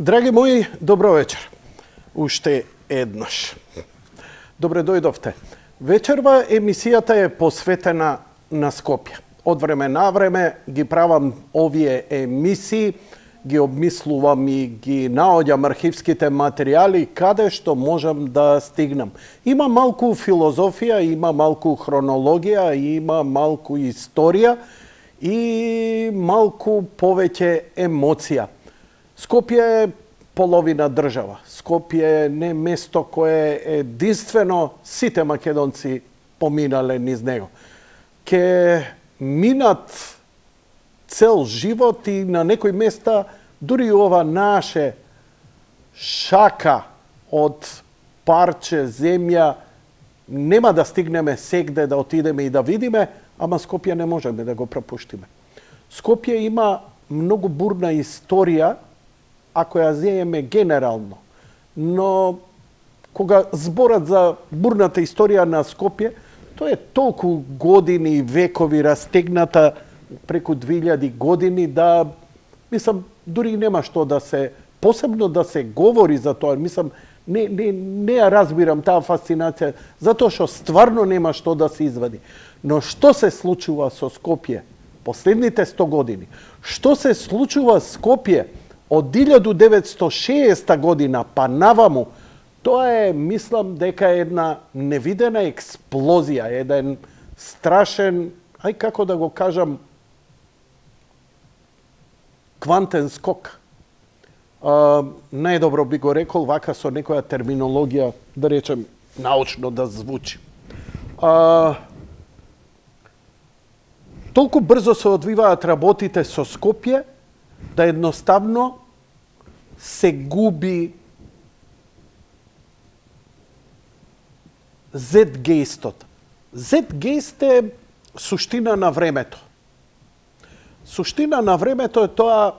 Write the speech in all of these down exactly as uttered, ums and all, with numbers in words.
Драги мои, добро вечер. Уште еднаш. Добре дојдовте. Вечерва емисијата е посветена на Скопје. Од време на време ги правам овие емисии, ги обмислувам и ги наоѓам архивските материјали каде што можам да стигнам. Има малку филозофија, има малку хронологија, има малку историја и малку повеќе емоција. Скопје е половина држава. Скопје е не место кое единствено сите македонци поминале низ него. Ке минат цел живот и на некои места дури ова наше шака од парче земја нема да стигнеме сегде да отидеме и да видиме, ама Скопје не можеме да го пропуштиме. Скопје има многу бурна историја, ако ја зееме генерално. Но кога зборат за бурната историја на Скопје, тоа е толку години и векови растегната преку две илјади години да, мислам, дури нема што да се, посебно да се говори за тоа. Мислам, не, не, не ја разбирам таа фасцинација, затоа што стварно нема што да се извади. Но што се случува со Скопје последните сто години? Што се случува со Скопје од илјада деветстотини и шеесета година па наваму? Тоа е, мислам, дека е една невидена експлозија, еден страшен, ај како да го кажам, квантен скок. А, најдобро би го рекол вака со некоја терминологија, да речем, научно да звучи. А, толку брзо се одвиваат работите со Скопје, да едноставно се губи зетгејстот. Зетгејст е суштина на времето. Суштина на времето е тоа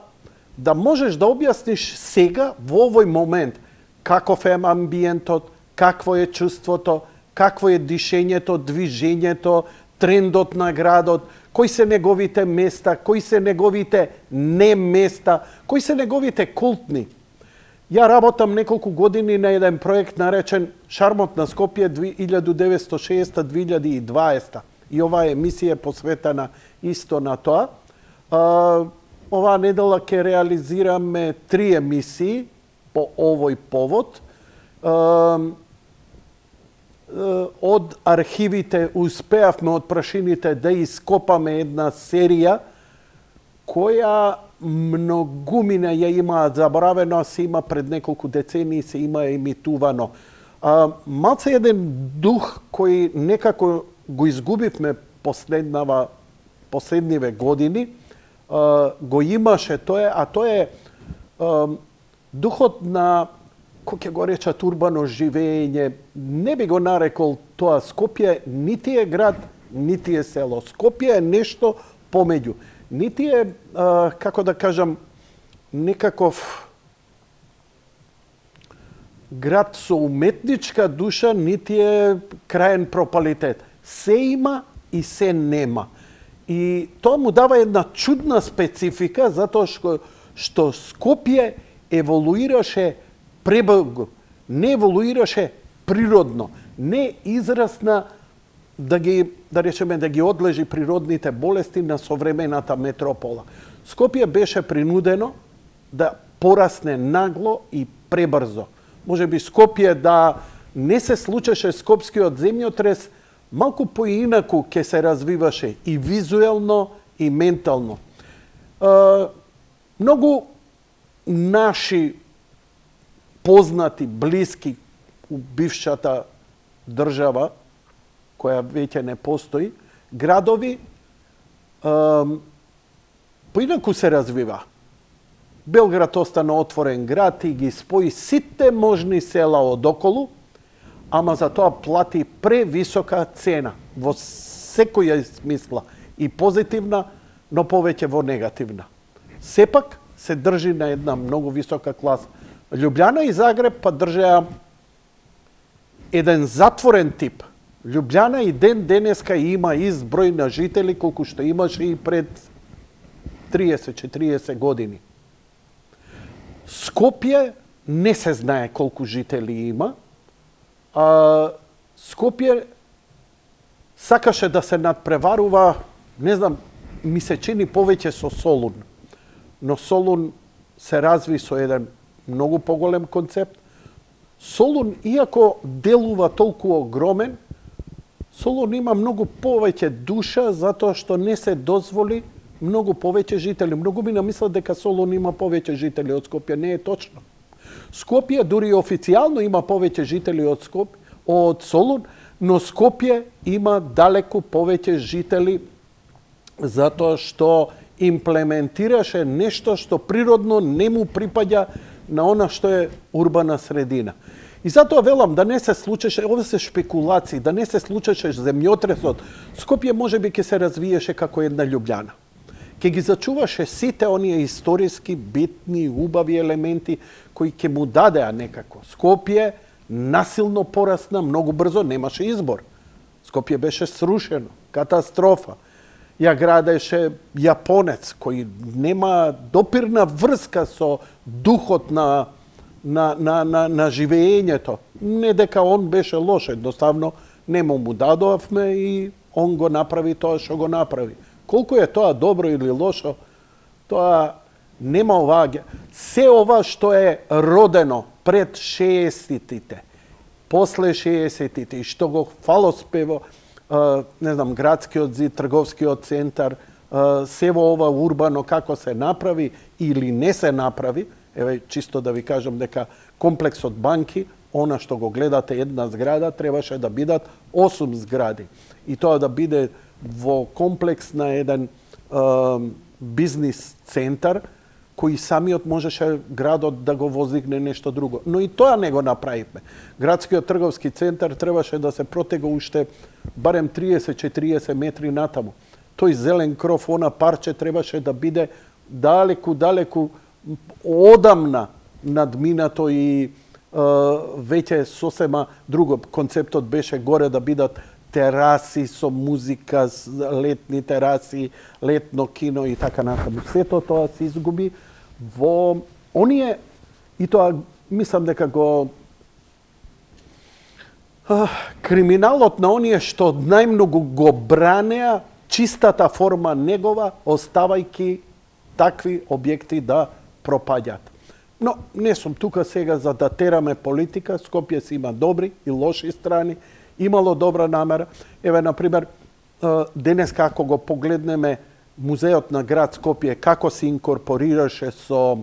да можеш да објасниш сега, во овој момент, каков е амбиентот, какво е чувството, какво е дишењето, движењето, трендот на градот, кои се неговите места, кои се неговите не места, кои се неговите култни. Ја работам неколку години на еден проект наречен Шармот на Скопје илјада деветстотини и шеесета до две илјади и дваесета. И оваа емисија е посветена исто на тоа. А, оваа недела ќе реализираме три емисии по овој повод. А, од архивите успеавме од прашините да ископаме една серија која многумина ја имаат заборавено, се има пред неколку децении, се има емитувано. А, малце еден дух кој некако го изгубивме последнава, последниве години, а, го имаше тоа, а тоа е а, духот на, кој ќе го речат, урбано живење. Не би го нарекол тоа Скопје, нити е град, нити е село. Скопје е нешто помеѓу. Нити е, а, како да кажам, некаков град со уметничка душа, нити е краен пропалитет. Се има и се нема. И тоа му дава една чудна специфика, затоа што, што Скопје еволуираше пребрзо, не еволуираше природно, не израсна да ги, да речеме, да ги одлежи природните болести на современата метропола. Скопје беше принудено да порасне нагло и пребрзо. Може би Скопје да не се случеше скопскиот земјотрес, малку поинаку ќе се развиваше и визуелно и ментално. Е, многу наши познати, блиски у бившата држава, која веќе не постои, градови, е, поинаку се развива. Белград остана отворен град и ги спои сите можни села одоколу, ама за тоа плати превисока цена во секоја смисла, и позитивна, но повеќе во негативна. Сепак се држи на една многу висока класа. Љубљана и Загреб па држеа еден затворен тип. Љубљана и ден денеска има изброј на жители колку што имаше и пред триесет-четириесет години. Скопје не се знае колку жители има. А, Скопје сакаше да се надпреварува, не знам, ми се чини повеќе со Солун. Но Солун се разви со еден многу поголем концепт. Солун, иако делува толку огромен, Солун има многу повеќе душа затоа што не се дозволи многу повеќе жители. Многу ми намислат дека Солун има повеќе жители од Скопје. Не е точно. Скопје дури официјално има повеќе жители од Скопје, од Солун, но Скопје има далеку повеќе жители затоа што имплементираше нешто што природно не му припаѓа на она што е урбана средина. И затоа велам да не се случеше, ова се шпекулации, да не се случеше земјотресот, Скопје можеби ќе се развиеше како една Љубљана. Ќе ги зачуваше сите оние историски, битни, убави елементи кои ќе му дадеа некако. Скопје насилно порасна многу брзо, немаше избор. Скопје беше срушено, катастрофа. Ја градеше јапонец кој нема допирна врска со духот на на на на, на живеењето. Не дека он беше лош, едноставно нему му дадовме и он го направи тоа што го направи. Колку е тоа добро или лошо, тоа нема оваа. Се ова што е родено пред шеесеттите, после шеесеттите и што го фалоспево, не знам, градскиот зид, трговскиот центар, се во ова урбано како се направи или не се направи, еве чисто да ви кажам дека комплексот банки, она што го гледате една зграда, требаше да бидат осум згради. И тоа да биде во комплекс на еден е, бизнис центар, кој самиот можеше градот да го воздигне нешто друго. Но и тоа не го направивме. Градскиот трговски центар требаше да се протега уште барем триесет до четириесет метри натаму. Тој зелен кров, она парче требаше да биде далеку, далеку одамна надминато и е, веќе сосема друго. Концептот беше горе да бидат тераси со музика, летни тераси, летно кино и така натаму. Сето тоа се изгуби во оние, и тоа мислам дека го а, криминалот на оние што најмногу го бранеа чистата форма негова, оставајки такви објекти да пропаѓат. Но не сум тука сега за да тераме политика. Скопје си има добри и лоши страни. Имало добра намера. Еве, например, денеска ако го погледнеме музеот на град Скопје, како се инкорпорираше со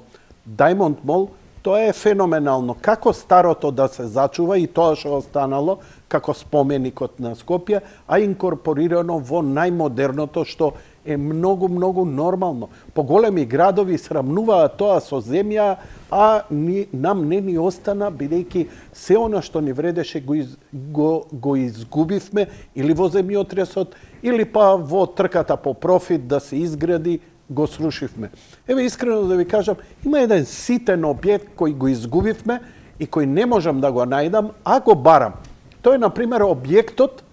Diamond Mall, тоа е феноменално. Како старото да се зачува и тоа што останало како споменикот на Скопје, а инкорпорирано во најмодерното што е многу, многу нормално. Поголеми градови срамнуваат тоа со земја, а ни, нам не ни остана, бидејќи се она што ни вредеше го, из, го, го изгубивме или во земјотресот, или па во трката по профит да се изгради, го срушивме. Еве, искрено да ви кажам, има еден ситен објект кој го изгубивме и кој не можам да го најдам, а го барам. Тој е, например, објектот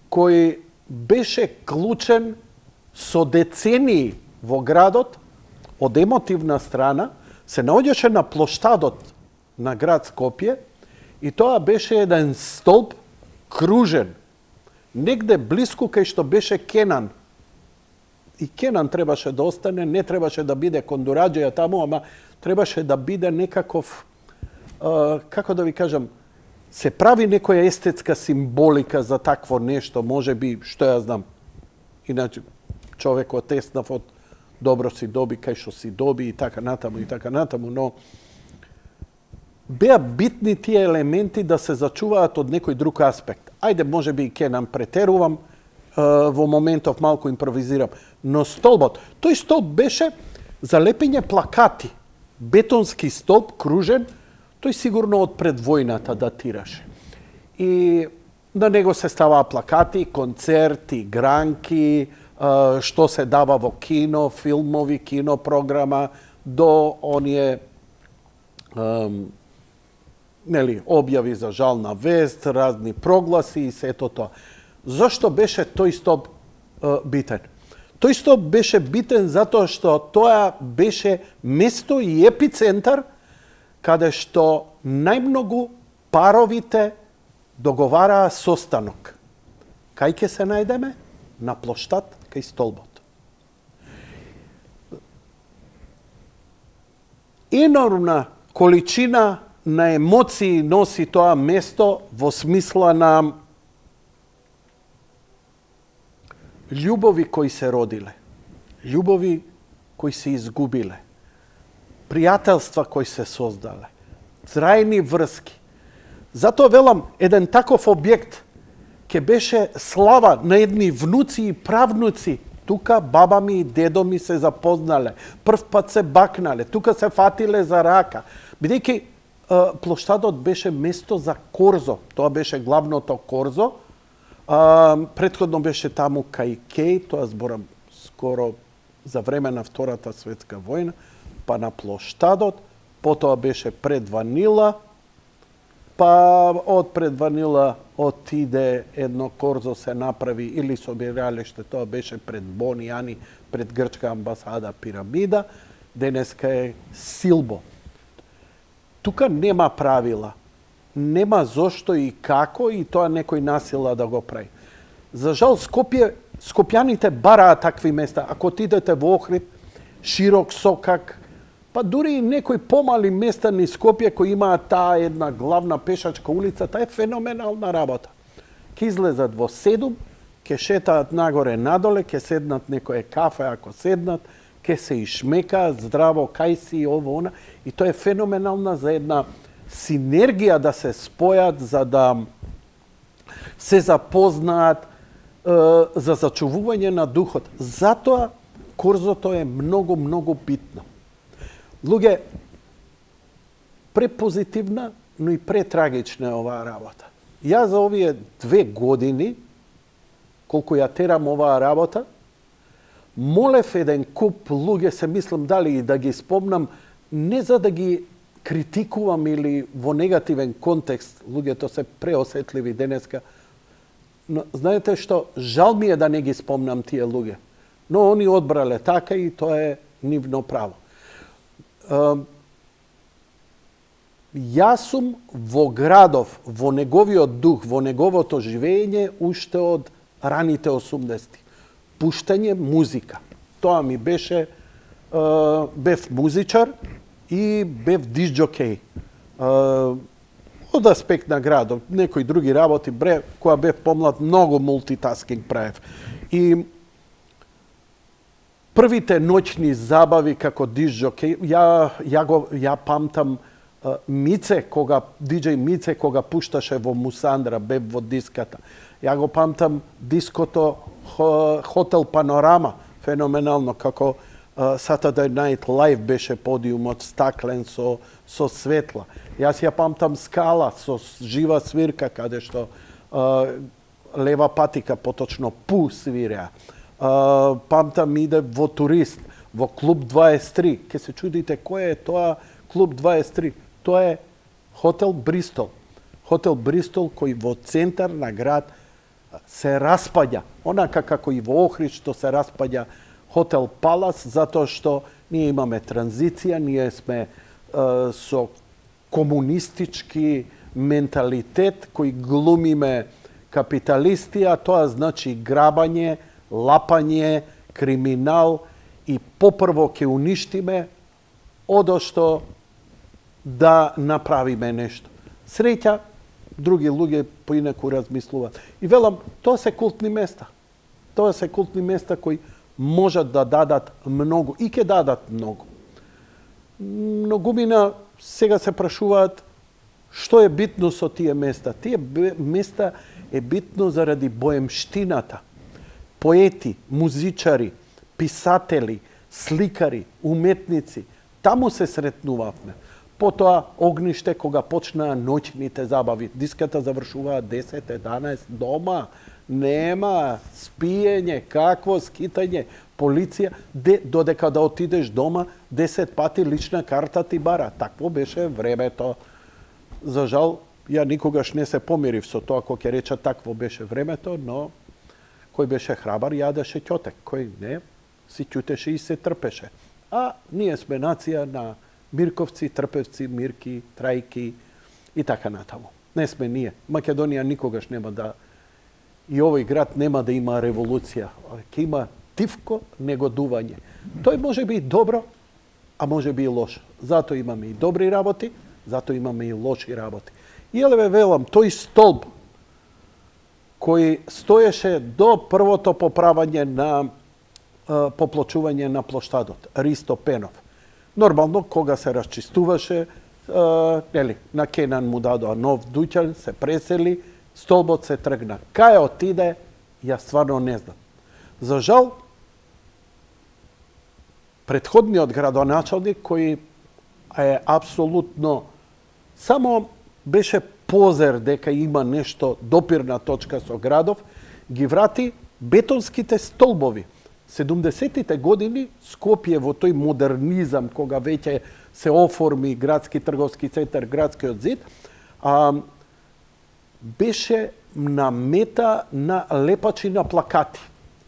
кој беше клучен со децении во градот, од емотивна страна, се наоѓаше на плоштадот на град Скопје и тоа беше еден столб кружен, негде блиску кај што беше Кенан. И Кенан требаше да остане, не требаше да биде Кондураџеја таму, ама требаше да биде некаков, а, како да ви кажам, се прави некоја естетска символика за такво нешто, може би, што ја знам. Иначе, човек отеснав од добро си доби, кај што си доби и така натаму и така натаму, но беа битни тие елементи да се зачуваат од некој друг аспект. Ајде, може би и Кенан претерувам, во моментов малку импровизирам, но столбот, тој столб беше за лепење плакати, бетонски столб, кружен, тој сигурно од пред војната датираше. И на него се ставаа плакати, концерти, гранки, што се дава во кино, филмови, кинопрограма, до оние ем, нели, објави за жална вест, разни прогласи и сето тоа. Зошто беше тој столб е, битен? Тој столб беше битен затоа што тоа беше место и епицентар каде што најмногу паровите договараа состанок. Кај ќе се најдеме? На плоштад кај столбот. Енормна количина на емоции носи тоа место во смисла на љубови кои се родиле, љубови кои се изгубиле, пријателства кои се создале, трајни врски. Затоа велам, еден таков објект ке беше слава на едни внуци и правнуци. Тука баба ми и дедо ми се запознале, прв пат се бакнале, тука се фатиле за рака. Бидејќи плоштадот беше место за корзо, тоа беше главното корзо. А, предходно беше таму кај Кеј, тоа зборам скоро за време на Втората светска војна, па на плоштадот, потоа беше пред Ванила, па од пред Ванила отиде едно корзо се направи или собиралиште, тоа беше пред Бони Ани, пред грчка амбасада Пирамида, денеска е Силбо. Тука нема правила, нема зошто и како и тоа некој насила да го прави. За жал, Скопје, скопјаните бараат такви места. Ако отидете во Охрид, Широк Сокак, па дури и некои помали места низ Скопје кои имаат таа една главна пешачка улица, таа е феноменална работа. Ке излезат во седум, ке шетаат нагоре надоле, ке седнат некое кафе ако седнат, ке се ишмекаат здраво, кај си, ово, она. И тоа е феноменална за една синергија да се спојат, за да се запознаат, за зачувување на духот. Затоа корзото е многу, многу битно. Луѓе, препозитивна, но и претрагична е оваа работа. Ја за овие две години, колку ја терам оваа работа, молев еден куп луѓе, се мислам дали и да ги спомнам, не за да ги критикувам или во негативен контекст, луѓето се преосетливи денеска, но знаете што, жал ми е да не ги спомнам тие луѓе, но они одбрале така и тоа е нивно право. Јас сум во градов, во неговиот дух, во неговото живење уште од раните осумдесети. Пуштање музика. Тоа ми беше, бев музичар и бев дисџокеј. Од аспект на градов, некои други работи, бре, која бев помлад, многу мултитаскинг правев. И првите ноќни забави како дисџокеј, ја, ја, го, ја памтам Мице, кога, диџеј Мице, кога пушташе во Мусандра, бев во диската. Ја го памтам диското Хотел Панорама, феноменално, како Saturday Night Live беше подиумот стаклен со, со светла. Јас ја памтам Скала со жива свирка, каде што Лева Патика, поточно Пу свиреа. Памтам иде во Турист, во Клуб дваесет и три. Ке се чудите кој е тоа Клуб дваесет и три. Тоа е Хотел Бристол. Хотел Бристол кој во центар на град се распаѓа. Онака како и во Охрид што се распаѓа Хотел Палас, затоа што ние имаме транзиција, ние сме е, со комунистички менталитет кој глумиме капиталисти, а тоа значи грабање, лапање, криминал и попрво ќе уништиме одошто да направиме нешто. Среќа, други луѓе поинаку размислуваат. И велам, тоа се култни места. Тоа се култни места кои можат да дадат многу и ќе дадат многу. Многумина сега се прашуваат што е битно со тие места. Тие места е битно заради боемштината. Поети, музичари, писатели, сликари, уметници, таму се сретнувавме. Потоа огниште кога почнаа ноќните забави. Диската завршуваа десет еданаесет дома. Нема спиење, какво скитање, полиција, де, додека да отидеш дома, десет пати лична карта ти бара. Такво беше времето. За жал, ја никогаш не се помирив со тоа кој ќе рече такво беше времето, но кој беше храбар јадеше ќотек, кој не, си ќутеше и се трпеше. А ние сме нација на Мирковци, Трпевци, Мирки, Трајки и така натаму. Не сме ние. Македонија никогаш нема да... И овој град нема да има револуција. Ќе има тивко негодување. Тој може би добро, а може би и лошо. Зато имаме и добри работи, зато имаме и лоши работи. И еле велам, тој столб кој стоеше до првото поправање на поплочување на плоштадот, Ристо Пенов. Нормално, кога се расчистуваше, нели, на Кенан му дадоа нов дуќан, се пресели, столбот се тргна. Кај отиде, ја стварно не знам. За жал, претходниот градоначалник, кој е апсолутно само беше позер дека има нешто допирна точка со градов, ги врати бетонските столбови. седумдесетите години Скопје во тој модернизам, кога веќе се оформи градски трговски центар, градскиот зид, а, беше на мета на лепачи на плакати.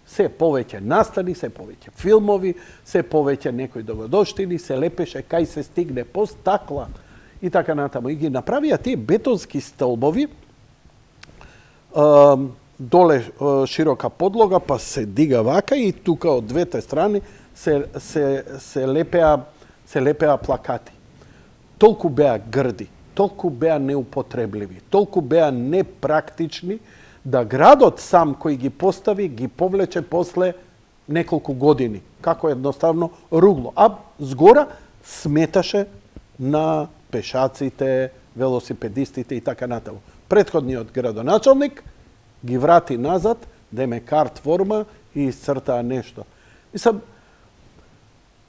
Се повеќе настани, се повеќе филмови, се повеќе некои догодоштини, се лепеше кај се стигне по стакла и така натаму. И ги направија тие бетонски столбови, а, доле широка подлога, па се дига вака и тука од двете страни се, се, се, лепеа, се лепеа плакати. Толку беа грди, толку беа неупотребливи, толку беа непрактични, да градот сам кој ги постави, ги повлече после неколку години. Како едноставно ругло. А згора сметаше на пешаците, велосипедистите и така натаму. Претходниот градоначалник ги врати назад, деме карт форма и исцртаа нешто. Мислам,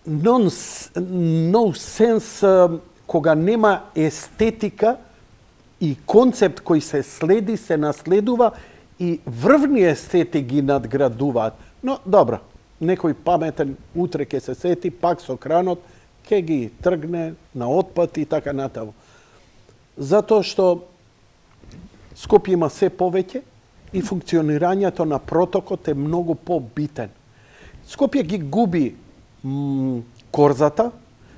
no sense, кога нема естетика и концепт кој се следи, се наследува и врвни естети ги надградуваат. Но, добро, некој паметен утре ќе се сети, пак со кранот, ќе ги тргне на отпад и така натаму. Затоа што Скопје има се повеќе, и функционирањето на протокот е многу побитен. Скопје ги губи м, корзата,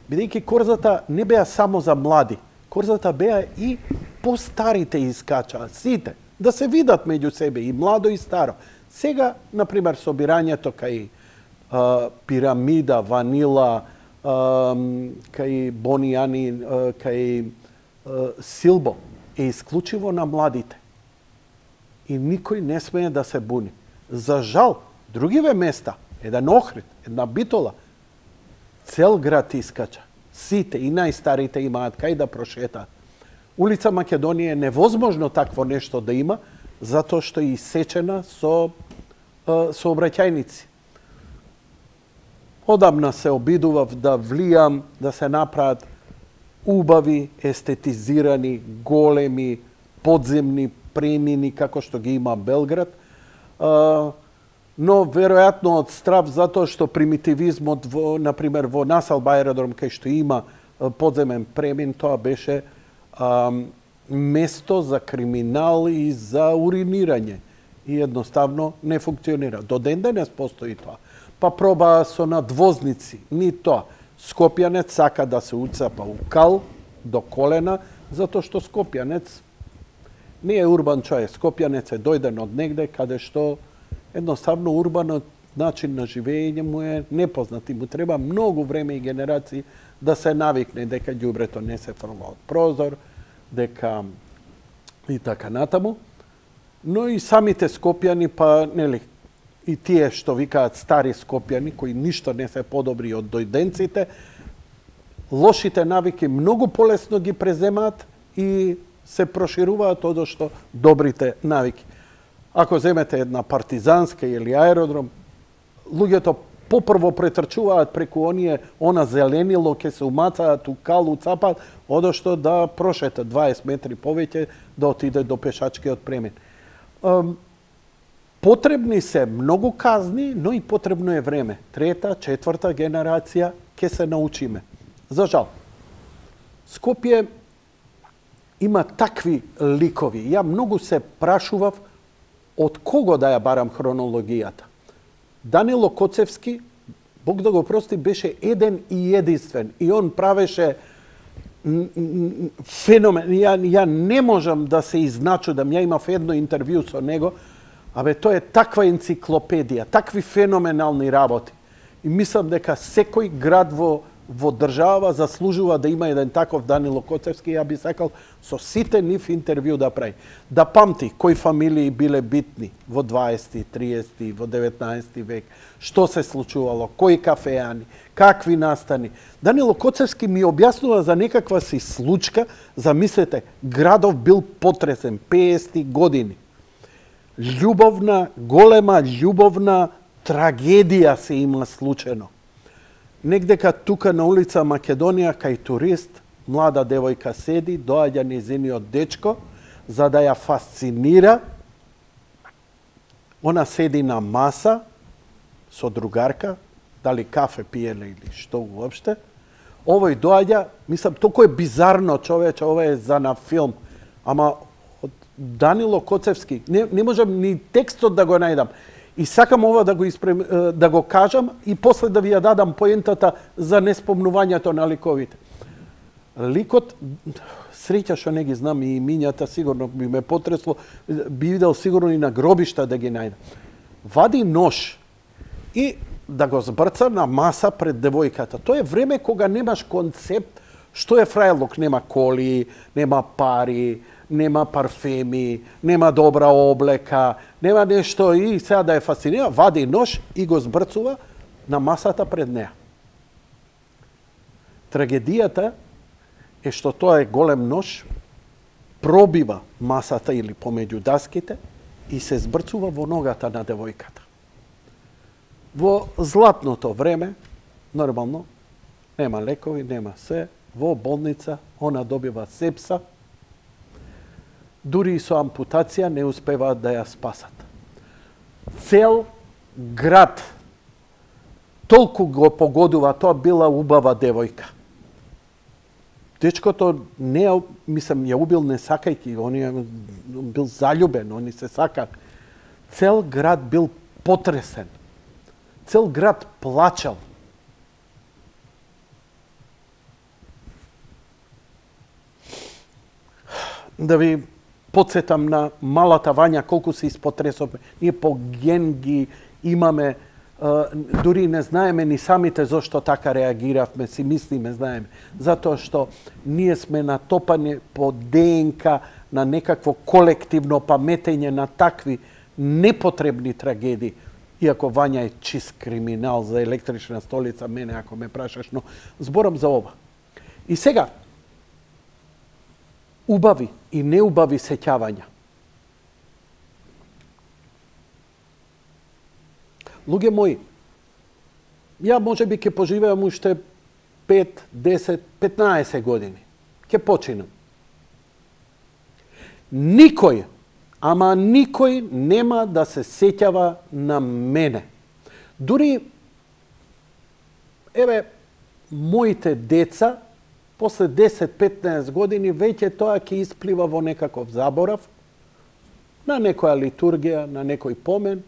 бидејќи корзата не беа само за млади. Корзата беа и постарите искачаа, сите, да се видат меѓу себе, и младо и старо. Сега, например, собирањето кај а, Пирамида, Ванила, а, кај Бонијани, а, кај а, Силбо е исклучиво на младите. И никој не смее да се буни. За жал, другиве места, еден Охрид, една Битола, цел град искача. Сите и најстарите имаат кај да прошетаат. Улица Македонија е невозможно такво нешто да има, затоа што е исечена со сообраќајници. Одамна се обидував да влијам, да се направат убави, естетизирани, големи, подземни премини, како што ги има Белград, а, но веројатно од страв затоа што примитивизмот, во, например, во Насалба аеродром, кај што има подземен премин, тоа беше а, место за криминал и за уринирање. И едноставно не функционира. До ден денес постои тоа. Па проба со надвозници, ни тоа. Скопјанец сака да се уцапа у кал до колена, затоа што Скопјанец не е урбан човек. Скопјанец е дојден од негде каде што едноставно урбанот начин на живење му е непознат и му треба многу време и генерации да се навикне дека ѓубрето не се фрла од прозор, дека и така натаму. Но и самите скопјани, па нели, и тие што викаат стари скопјани, кои ништо не се подобри од дојденците, лошите навики многу полесно ги преземаат и се прошируваат одошто добрите навики. Ако земете една партизанска или аеродром, луѓето попрво претрчуваат преку оние, она зеленило, ке се умацаат у калу, цапаат, одошто да прошетат дваесет метри повеќе да отиде до пешачкиот премин. Потребни се многу казни, но и потребно е време. Трета, четврта генерација ќе се научиме. За жал. Скопје има такви ликови. Ја многу се прашував од кого да ја барам хронологијата. Данило Коцевски Бог да го прости, беше еден и единствен. И он правеше феномен. Ја, ја не можам да се изначудам. Ја имав едно интервју со него. Абе, тоа е таква енциклопедија, такви феноменални работи. И мислам дека секој град во, во држава заслужува да има еден таков Данило Коцевски. Ја би сакал со сите нив интервју да прави. Да памти кои фамилии биле битни во дваесети, триесети, во деветнаесети век, што се случувало, кои кафеани, какви настани. Данило Коцевски ми објаснува за некаква си случка, замислете, градов бил потресен, петдесети години. Љубовна, голема љубовна трагедија се има случено. Негдека тука на улица Македонија, кај турист, млада девојка седи, доаѓа незиниот дечко, за да ја фасцинира. Она седи на маса со другарка, дали кафе пиеле или што уопште. Овој доаѓа, мислам, толку е бизарно, човече, ова е за на филм, ама од Данило Коцевски, не, не можам ни текстот да го најдам. И сакам ова да го, испрем, да го кажам и после да ви ја дадам поентата за неспомнувањето на ликовите. Ликот, среќа што не ги знам и имињата, сигурно би ме потресло, би видел сигурно и на гробишта да ги најдам. Вади нож и да го збрца на маса пред девојката. Тоа е време кога немаш концепт што е фрајлок. Нема коли, нема пари, нема парфеми, нема добра облека, нема нешто и сега да е фасцинира, вади нож и го збрцува на масата пред неа. Трагедијата е што тоа е голем нож, пробива масата или помеѓу даските и се збрцува во ногата на девојката. Во златното време, нормално, нема лекови, нема се, во болница, она добива сепса, дури и со ампутација не успеваат да ја спасат. Цел град толку го погодува, тоа била убава девојка. Дечкото не ја, мислам, ја убил не сакајки, он ја бил заљубен, они се сакат. Цел град бил потресен. Цел град плачал. Да ви подсетам на малата Вања, колку се испотресовме. Ние по ген ги имаме, дури не знаеме ни самите зошто така реагиравме, си мислиме, знаеме. Затоа што ние сме натопани по ДНК на некакво колективно паметење на такви непотребни трагедии. Иако Вања е чист криминал за електрична столица, мене ако ме прашаш, но зборам за ова. И сега, убави и неубави сеќавања. Луѓе мои, ја може би ќе поживеам уште пет, десет, петнаесет години. Ќе починам. Никој, ама никој нема да се сеќава на мене. Дури, еве, моите деца, после десет-петнаесет години, веќе тоа ќе исплива во некаков заборав, на некоја литургија, на некој помен,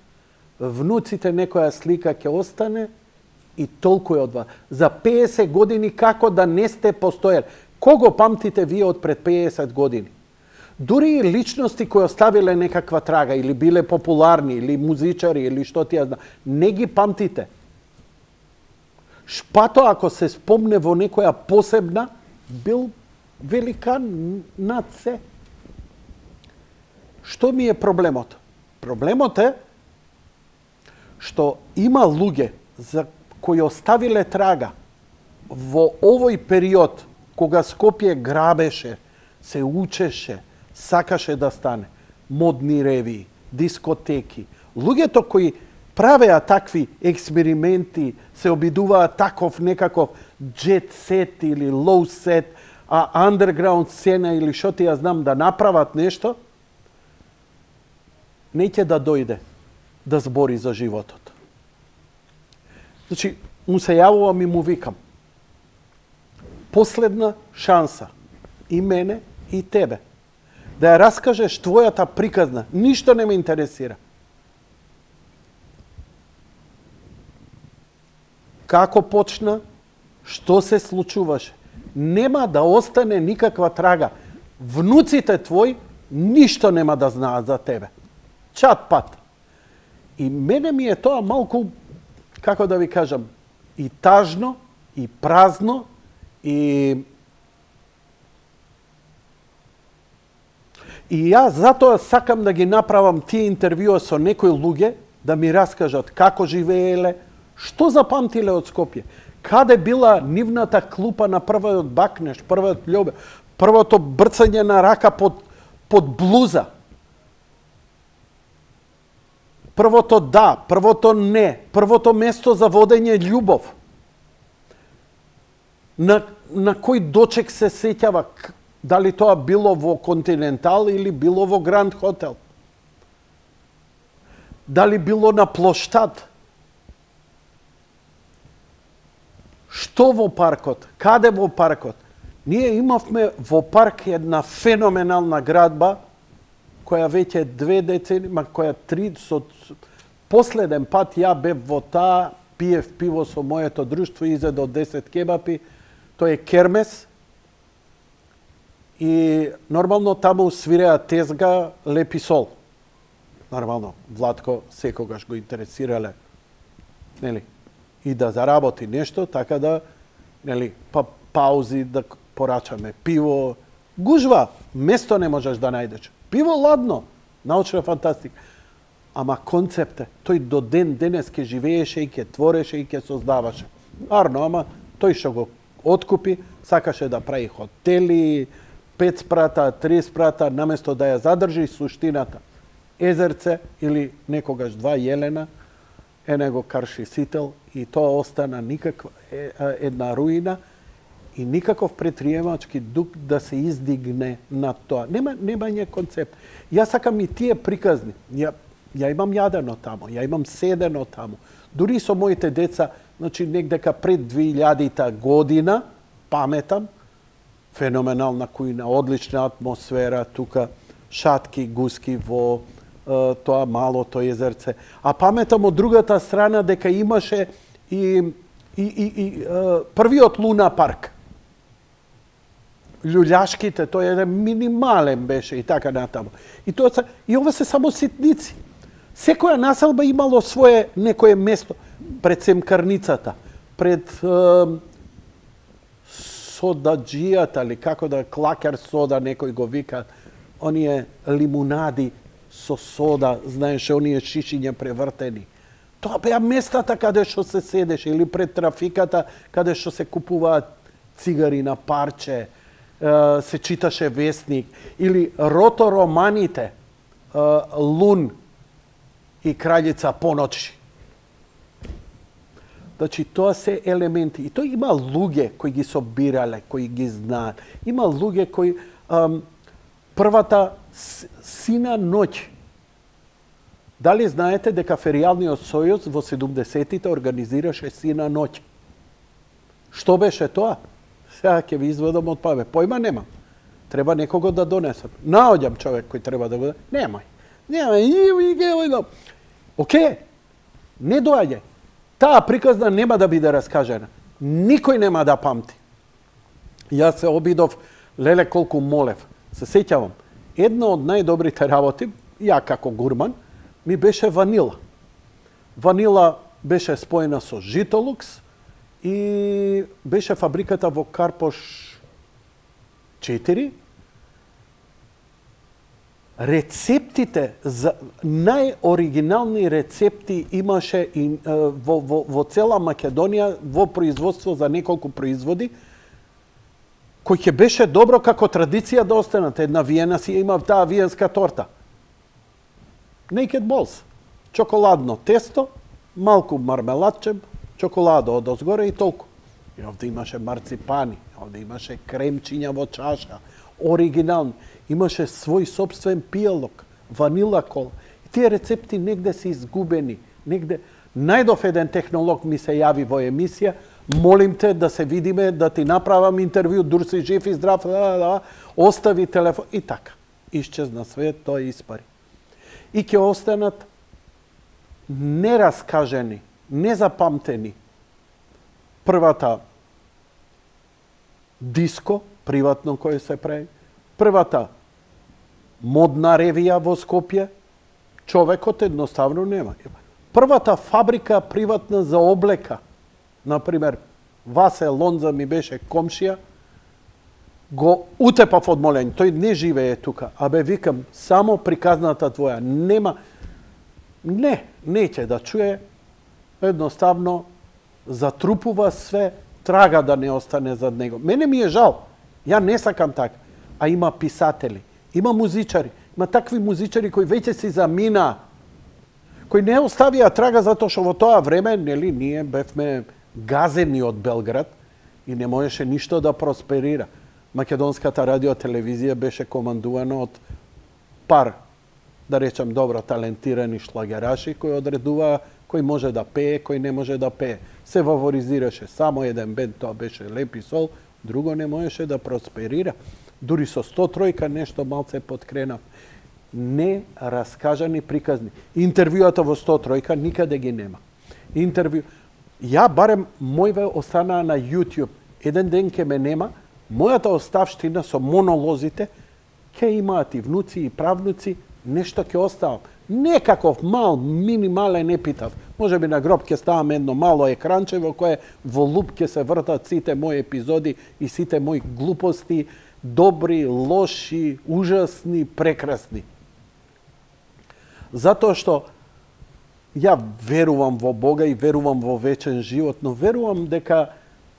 внуците некоја слика ќе остане и толку е од вас. За петдесет години како да не сте постојали? Кого памтите вие од пред петдесет години? Дури и личности кои оставиле некаква трага, или биле популарни, или музичари, или што ти ја знам, не ги памтите. Шпато, ако се спомне во некоја посебна, бил великан над се. Што ми е проблемот? Проблемот е што има луѓе за кои оставиле трага во овој период кога Скопје грабеше, се учеше, сакаше да стане, модни ревии, дискотеки. Луѓето кои правеа такви експерименти, се обидуваат таков некаков джет сет или лоу сет, а андерграунд сцена или што ти ја знам да направат нешто, неќе да дојде да збори за животот. Значи, му се јавувам и му викам. Последна шанса и мене и тебе да ја раскажеш твојата приказна. Ништо не ме интересира. како почна, што се случуваше. Нема да остане никаква трага. Внуците твои ништо нема да знаат за тебе. Чат пат. И мене ми е тоа малку, како да ви кажам, и тажно, и празно, и И јас затоа сакам да ги направам тие интервјуа со некои луѓе, да ми раскажат како живееле, што запамтиле од Скопје, каде била нивната клупа на првиот бакнеш, првиот љубе, првото брцање на рака под, под блуза, првото да, првото не, првото место за водење љубов, на, на кој дочек се сеќава, дали тоа било во Континентал или било во Гранд Хотел. Дали било на плоштад. Што во паркот? Каде во паркот? Ние имавме во парк една феноменална градба, која веќе две децени, ма која три, со последен пат ја бев во таа, пиев пиво со моето друштво, изедо десет кебапи, тој е Кермес. И нормално таму свиреа тезга Лепи Сол. Нормално, Владко секогаш го интересирале, нели, и да заработи нешто, така да, нели, па паузи да порачаме пиво. Гужва, место не можеш да најдеш. Пиво ладно, научна фантастика. Ама концепте, тој до ден денес ке живееше и ке твореше и ке создаваше. Арно, ама тој што го откупи, сакаше да прави хотели, пет спрата, три спрата, наместо да ја задржи суштината. Езерце или некогаш два Јелена, е него карши сител и тоа остана никаква една руина и никаков предприемачки дух да се издигне над тоа. Нема немање концепт. Јас сакам и тие приказни. Ја, ја имам јадено тамо, ја имам седено тамо. Дури со моите деца, значи негдека пред две илјадита година, паметам, феноменална кујна, одлична атмосфера, тука шатки, гуски во е, тоа малото езерце. А паметам од другата страна дека имаше и, и, и, и е, првиот Луна парк. Љуљашките, тој еден минимален беше и така натаму. И тоа и ова се само ситници. Секоја населба имало свое некое место пред Семкарницата, пред е, содаџијата, или како да, клакер сода, некој го вика, оние лимунади со сода, знаеше, оние шишиња превртени. Тоа беа местата каде што се седеше, или пред трафиката, каде што се купуваат цигари на парче, се читаше вестник, или ротороманите, Лун и Краљица поночи. Значи, тоа се елементи. И тоа има луѓе кои ги собирале, кои ги знаат. Има луѓе кои... Ам, првата сина ноќ. Дали знаете дека Феријалниот сојуз во седумдесетите организираше сина ноќ? Што беше тоа? Сега ќе ви изведам од памет. Појма немам. Треба некого да донесам. Наоѓам човек кој треба да го... Немај. Немај. Океј. Не доаѓа. Таа приказна нема да биде раскажена. Никој нема да памти. Јас се обидов, леле колку молев. Се сеќавам, една од најдобрите работи, ја како гурман, ми беше ванила. Ванила беше споена со Житолукс и беше фабриката во Карпош четири. Рецептите, за најоригинални рецепти имаше и, во, во, во цела Македонија во производство за неколку производи, кој ќе беше добро како традиција да останат. Една Виена си имав таа виенска торта. Naked Balls. Чоколадно тесто, малку мармеладче, чоколада од озгоре и толку. И овде имаше марципани, овде имаше кремчиња во чаша, оригинални. Имаше свој собствен пијалок, ванила кола. И тие рецепти негде се изгубени. Негде... Најдов еден технолог ми се јави во емисија, молим те да се видиме, да ти направам интервју, дур си жив и здрав, да, да, остави телефон и така. Исчезна све, тоа испари. И ќе останат нераскажени, незапамтени првата диско, приватно кој се прави, првата модна ревија во Скопје, човекот едноставно нема. Првата фабрика приватна за облека, например, Васе Лонза ми беше комшија, го утепав од молење. Тој не живее тука. Абе, викам, само приказната твоја. Нема... Не, неќе да чуе. Едноставно, затрупува све, трага да не остане зад него. Мене ми е жал. Ја не сакам така. А има писатели, има музичари. Има такви музичари кои веќе си замина, кои не оставија трага затоа што во тоа време, нели, ние бевме газени од Белград и не можеше ништо да просперира. Македонската радиотелевизија беше командувана од пар, да речам, добро талентирани шлагераши кои одредуваа кој може да пее, кој не може да пее. Се фаворизираше само еден бенд, тоа беше Леп и Сол, друго не можеше да просперира. Дури со сто тројка нешто малце подкренав. Не раскажани приказни. Интервјуата во сто тројка никаде ги нема. Интервју... Ја барем мојве останаа на YouTube. Еден ден ке ме нема, мојата оставштина со монолозите, ке имаат и внуци и правнуци, нешто ке оставам. Некаков мал, минимален епитаф. Може би на гроб ке ставам едно мало екранче во кое во луп ке се вртат сите мои епизоди и сите мои глупости, добри, лоши, ужасни, прекрасни. Затоа што ја верувам во Бога и верувам во вечен живот, но верувам дека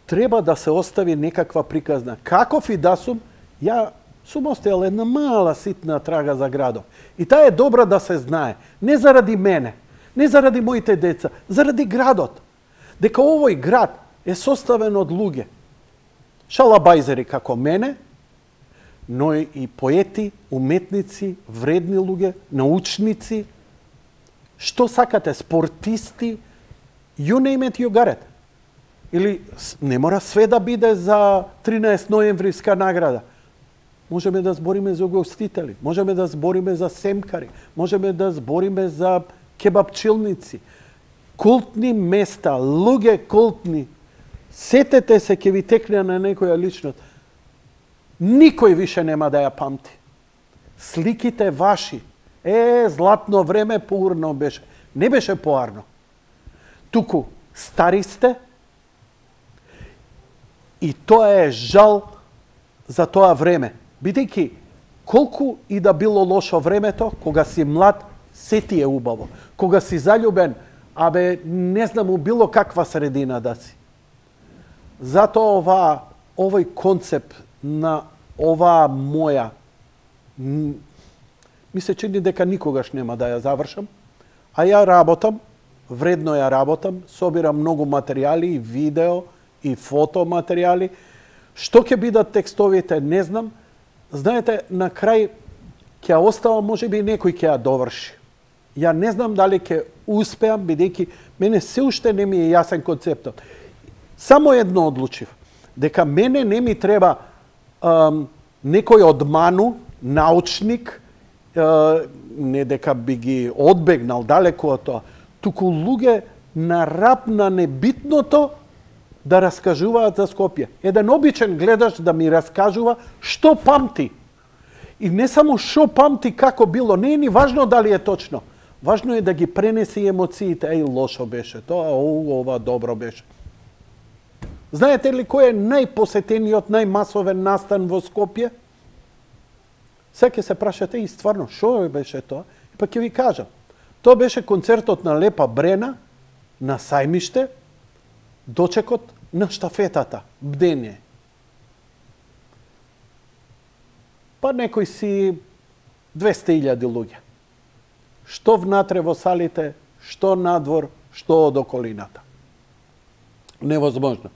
треба да се остави некаква приказна. Каков и да сум, ја сум оставил една мала ситна трага за градот. И таа е добра да се знае. Не заради мене, не заради моите деца, заради градот. Дека овој град е составен од луѓе. Шалабајзери како мене, но и поети, уметници, вредни луѓе, научници, што сакате, спортисти, you name it, you got it. Или не мора све да биде за тринаесет ноемвриска награда. Можеме да збориме за угостители, можеме да збориме за семкари, можеме да збориме за кебапчилници. Култни места, луѓе култни. Сетете се, ќе ви текне на некоја личност. Никој више нема да ја памти. Сликите ваши. Е, златно време поурно беше. Не беше поарно. Туку, стари сте. И тоа е жал за тоа време. Бидејќи, колку и да било лошо времето, кога си млад, се ти е убаво. Кога си заљубен, абе, не знам, у било каква средина да си. Затоа ова, овој концепт на оваа моја, ми се чини дека никогаш нема да ја завршам, а ја работам, вредно ја работам, собирам многу материјали и видео и фотоматеријали. Што ќе бидат текстовите, не знам. Знаете, на крај ќе остава, може би некој ќе ја доврши. Ја не знам дали ќе успеам, бидејќи мене се уште не ми е јасен концептот. Само едно одлучив, дека мене не ми треба ам, некој одману, научник, е, не дека би ги одбегнал далеку од тоа, туку луѓе на рап на небитното да раскажуваат за Скопје. Еден обичен гледач да ми раскажува што памти. И не само што памти како било, не е ни важно дали е точно. Важно е да ги пренеси емоциите. Еј, лошо беше тоа, о, ова добро беше. Знаете ли кој е најпосетениот, најмасовен настан во Скопје? Сега ќе се прашате и стварно, што беше тоа? И па ќе ви кажам. Тоа беше концертот на Лепа Брена, на Сајмиште, дочекот на штафетата, бдење. Па некои си двесте илјади луѓе. Што внатре во салите, што надвор, што од околината. Невозможно.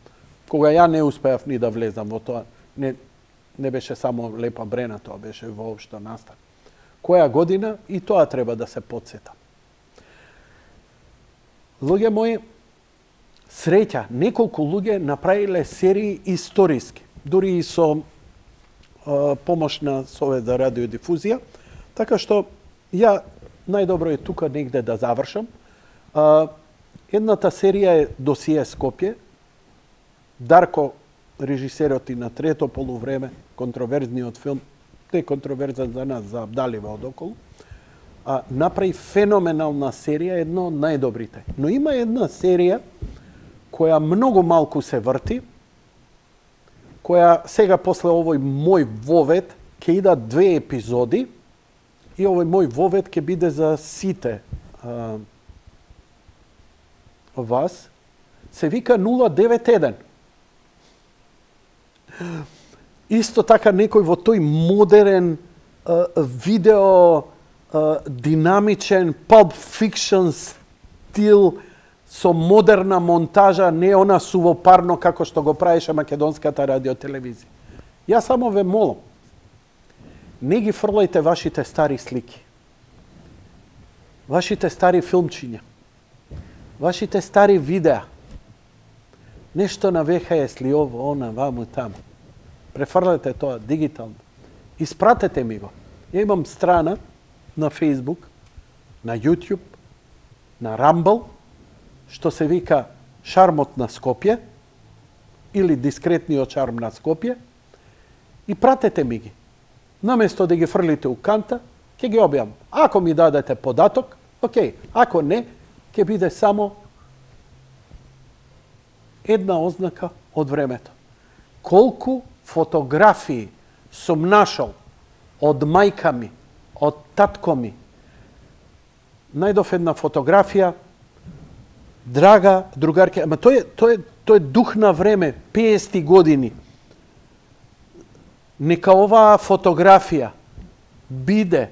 Кога ја не успеав ни да влезам во тоа, не, не беше само Лепа Брена, тоа беше воопшто настан. Која година, и тоа треба да се подсетам. Луѓе мои, среќа, неколку луѓе направиле серии историски, дури и со е, помош на Совет за радиодифузија, така што ја најдобро е тука негде да завршам. Е, едната серија е Досие Скопје, Дарко, режисерот и на трето полувреме, контроверзниот филм, не контроверзен за нас, за Абдалива одоколу, а, направи феноменална серија, едно од најдобрите. Но има една серија која многу малку се врти, која сега после овој мој вовед ќе идат две епизоди и овој мој вовед ќе биде за сите а, вас, се вика нула девет еден. Исто така некој во тој модерен а, видео а, динамичен Pulp Fiction стил со модерна монтажа, не она сувопарно како што го правеше македонската радиотелевизија. Јас само ве молам, не ги фрлајте вашите стари слики, вашите стари филмчиња, вашите стари видеа, нешто на ве ха ес ли ово, она, ваму, таму. Префрлете тоа дигитално. Испратете ми го. Ја имам страна на Facebook, на YouTube, на Rumble, што се вика Шармот на Скопје или Дискретниот шарм на Скопје и пратете ми ги. Наместо да ги фрлите у канта, ќе ги објавам. Ако ми дадете податок, окей. Ако не, ќе биде само една ознака од времето. Колку фотографии сум нашол од мајка ми, од татко ми. Најдов една фотографија, драга другарке, ама тој е, тој е, тој е дух на време, петдесети години. Нека оваа фотографија биде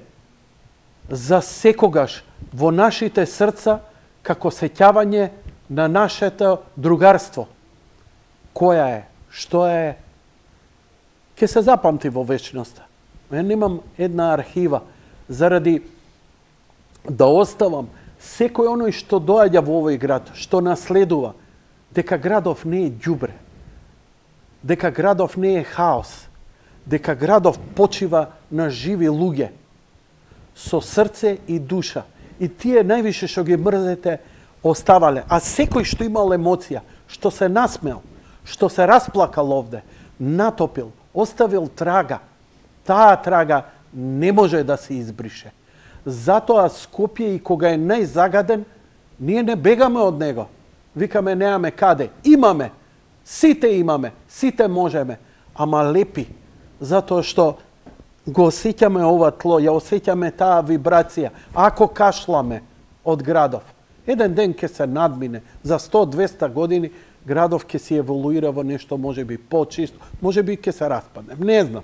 за секогаш во нашите срца како сеќавање на нашето другарство. Која е, што е, ќе се запамти во вечноста. Ја немам една архива заради да оставам секој оној што доаѓа во овој град, што наследува, дека градов не е ѓубре, дека градов не е хаос, дека градов почива на живи луѓе, со срце и душа. И тие највише што ги мрзете оставале. А секој што имал емоција, што се насмел, што се расплакал овде, натопил, оставил трага, таа трага не може да се избрише. Затоа Скопје и кога е најзагаден, ние не бегаме од него. Викаме немаме каде. Имаме. Сите имаме. Сите можеме. Ама лепи. Затоа што го осеќаме ова тло, ја осеќаме таа вибрација. Ако кашламе од градов, еден ден ќе се надмине. За сто до двесте години градов ќе се еволуира во нешто можеби почисто, можеби ќе се распадне. Не знам.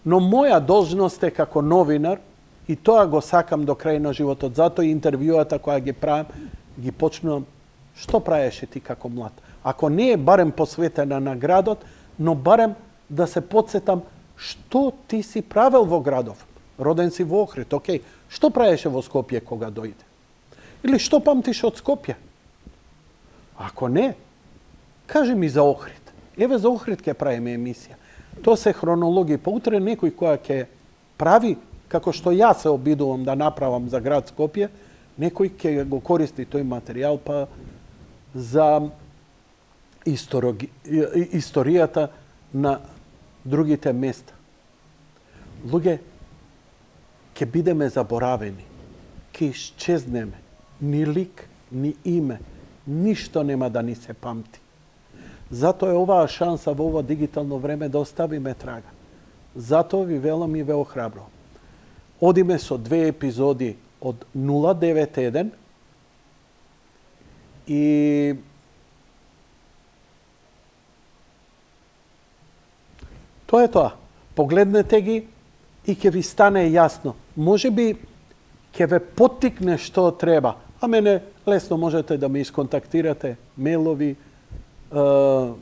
Но моја должност е како новинар, и тоа го сакам до крај на животот. Затоа и интервјуата која ги правам, ги почнувам што правеше ти како млад. Ако не е барем посветена на градот, но барем да се подсетам што ти си правел во градов. Роден си во Охрид, окей. Што правеше во Скопје кога дојде? Или што памтиш од Скопје? Ако не, кажи ми за Охрид. Еве за Охрид ќе правиме емисија. Тоа се хронологија. Па утре некој која ќе прави, како што јас се обидувам да направам за град Скопје, некој ќе го користи тој материјал па за истороги... историјата на другите места. Луѓе, ќе бидеме заборавени, ќе исчезнеме. Ни лик, ни име, ништо нема да ни се памти. Затоа е оваа шанса во ова дигитално време да оставиме трага. Затоа ви велам и ве охрабрувам. Одиме со две епизоди од нула девет еден и тоа е тоа. Погледнете ги и ќе ви стане јасно. Може би ќе ве поттикне што треба. А мене лесно можете да ме исконтактирате, мейлови,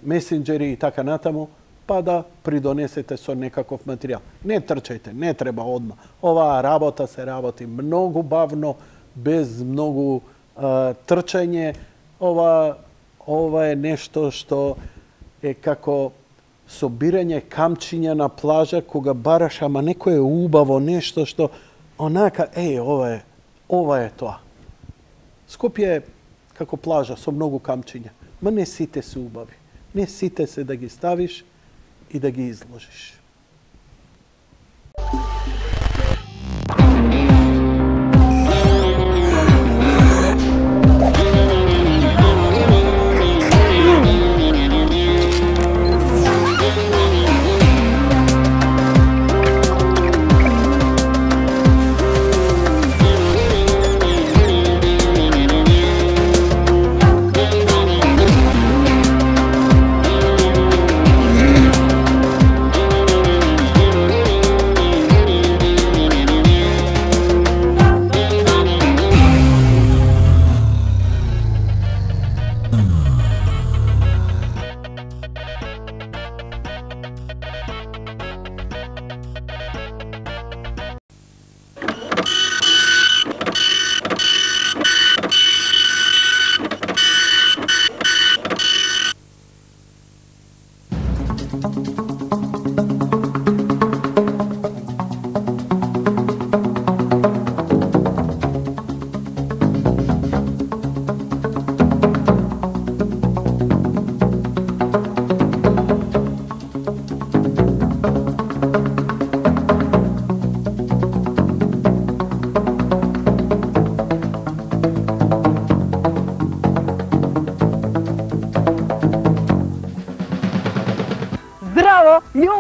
месенџери и така натаму, па да придонесете со некаков материјал. Не трчајте, не треба одма. Оваа работа се работи многу бавно, без многу а, трчање. Ова, ова е нешто што е како собирање камчиња на плажа кога бараш, ама некое убаво нешто што онака, еј, ова е, ова е тоа. Скопје е како плажа со многу камчиња, ма не сите се убави. Не сите се да ги ставиш и да ги изложиш.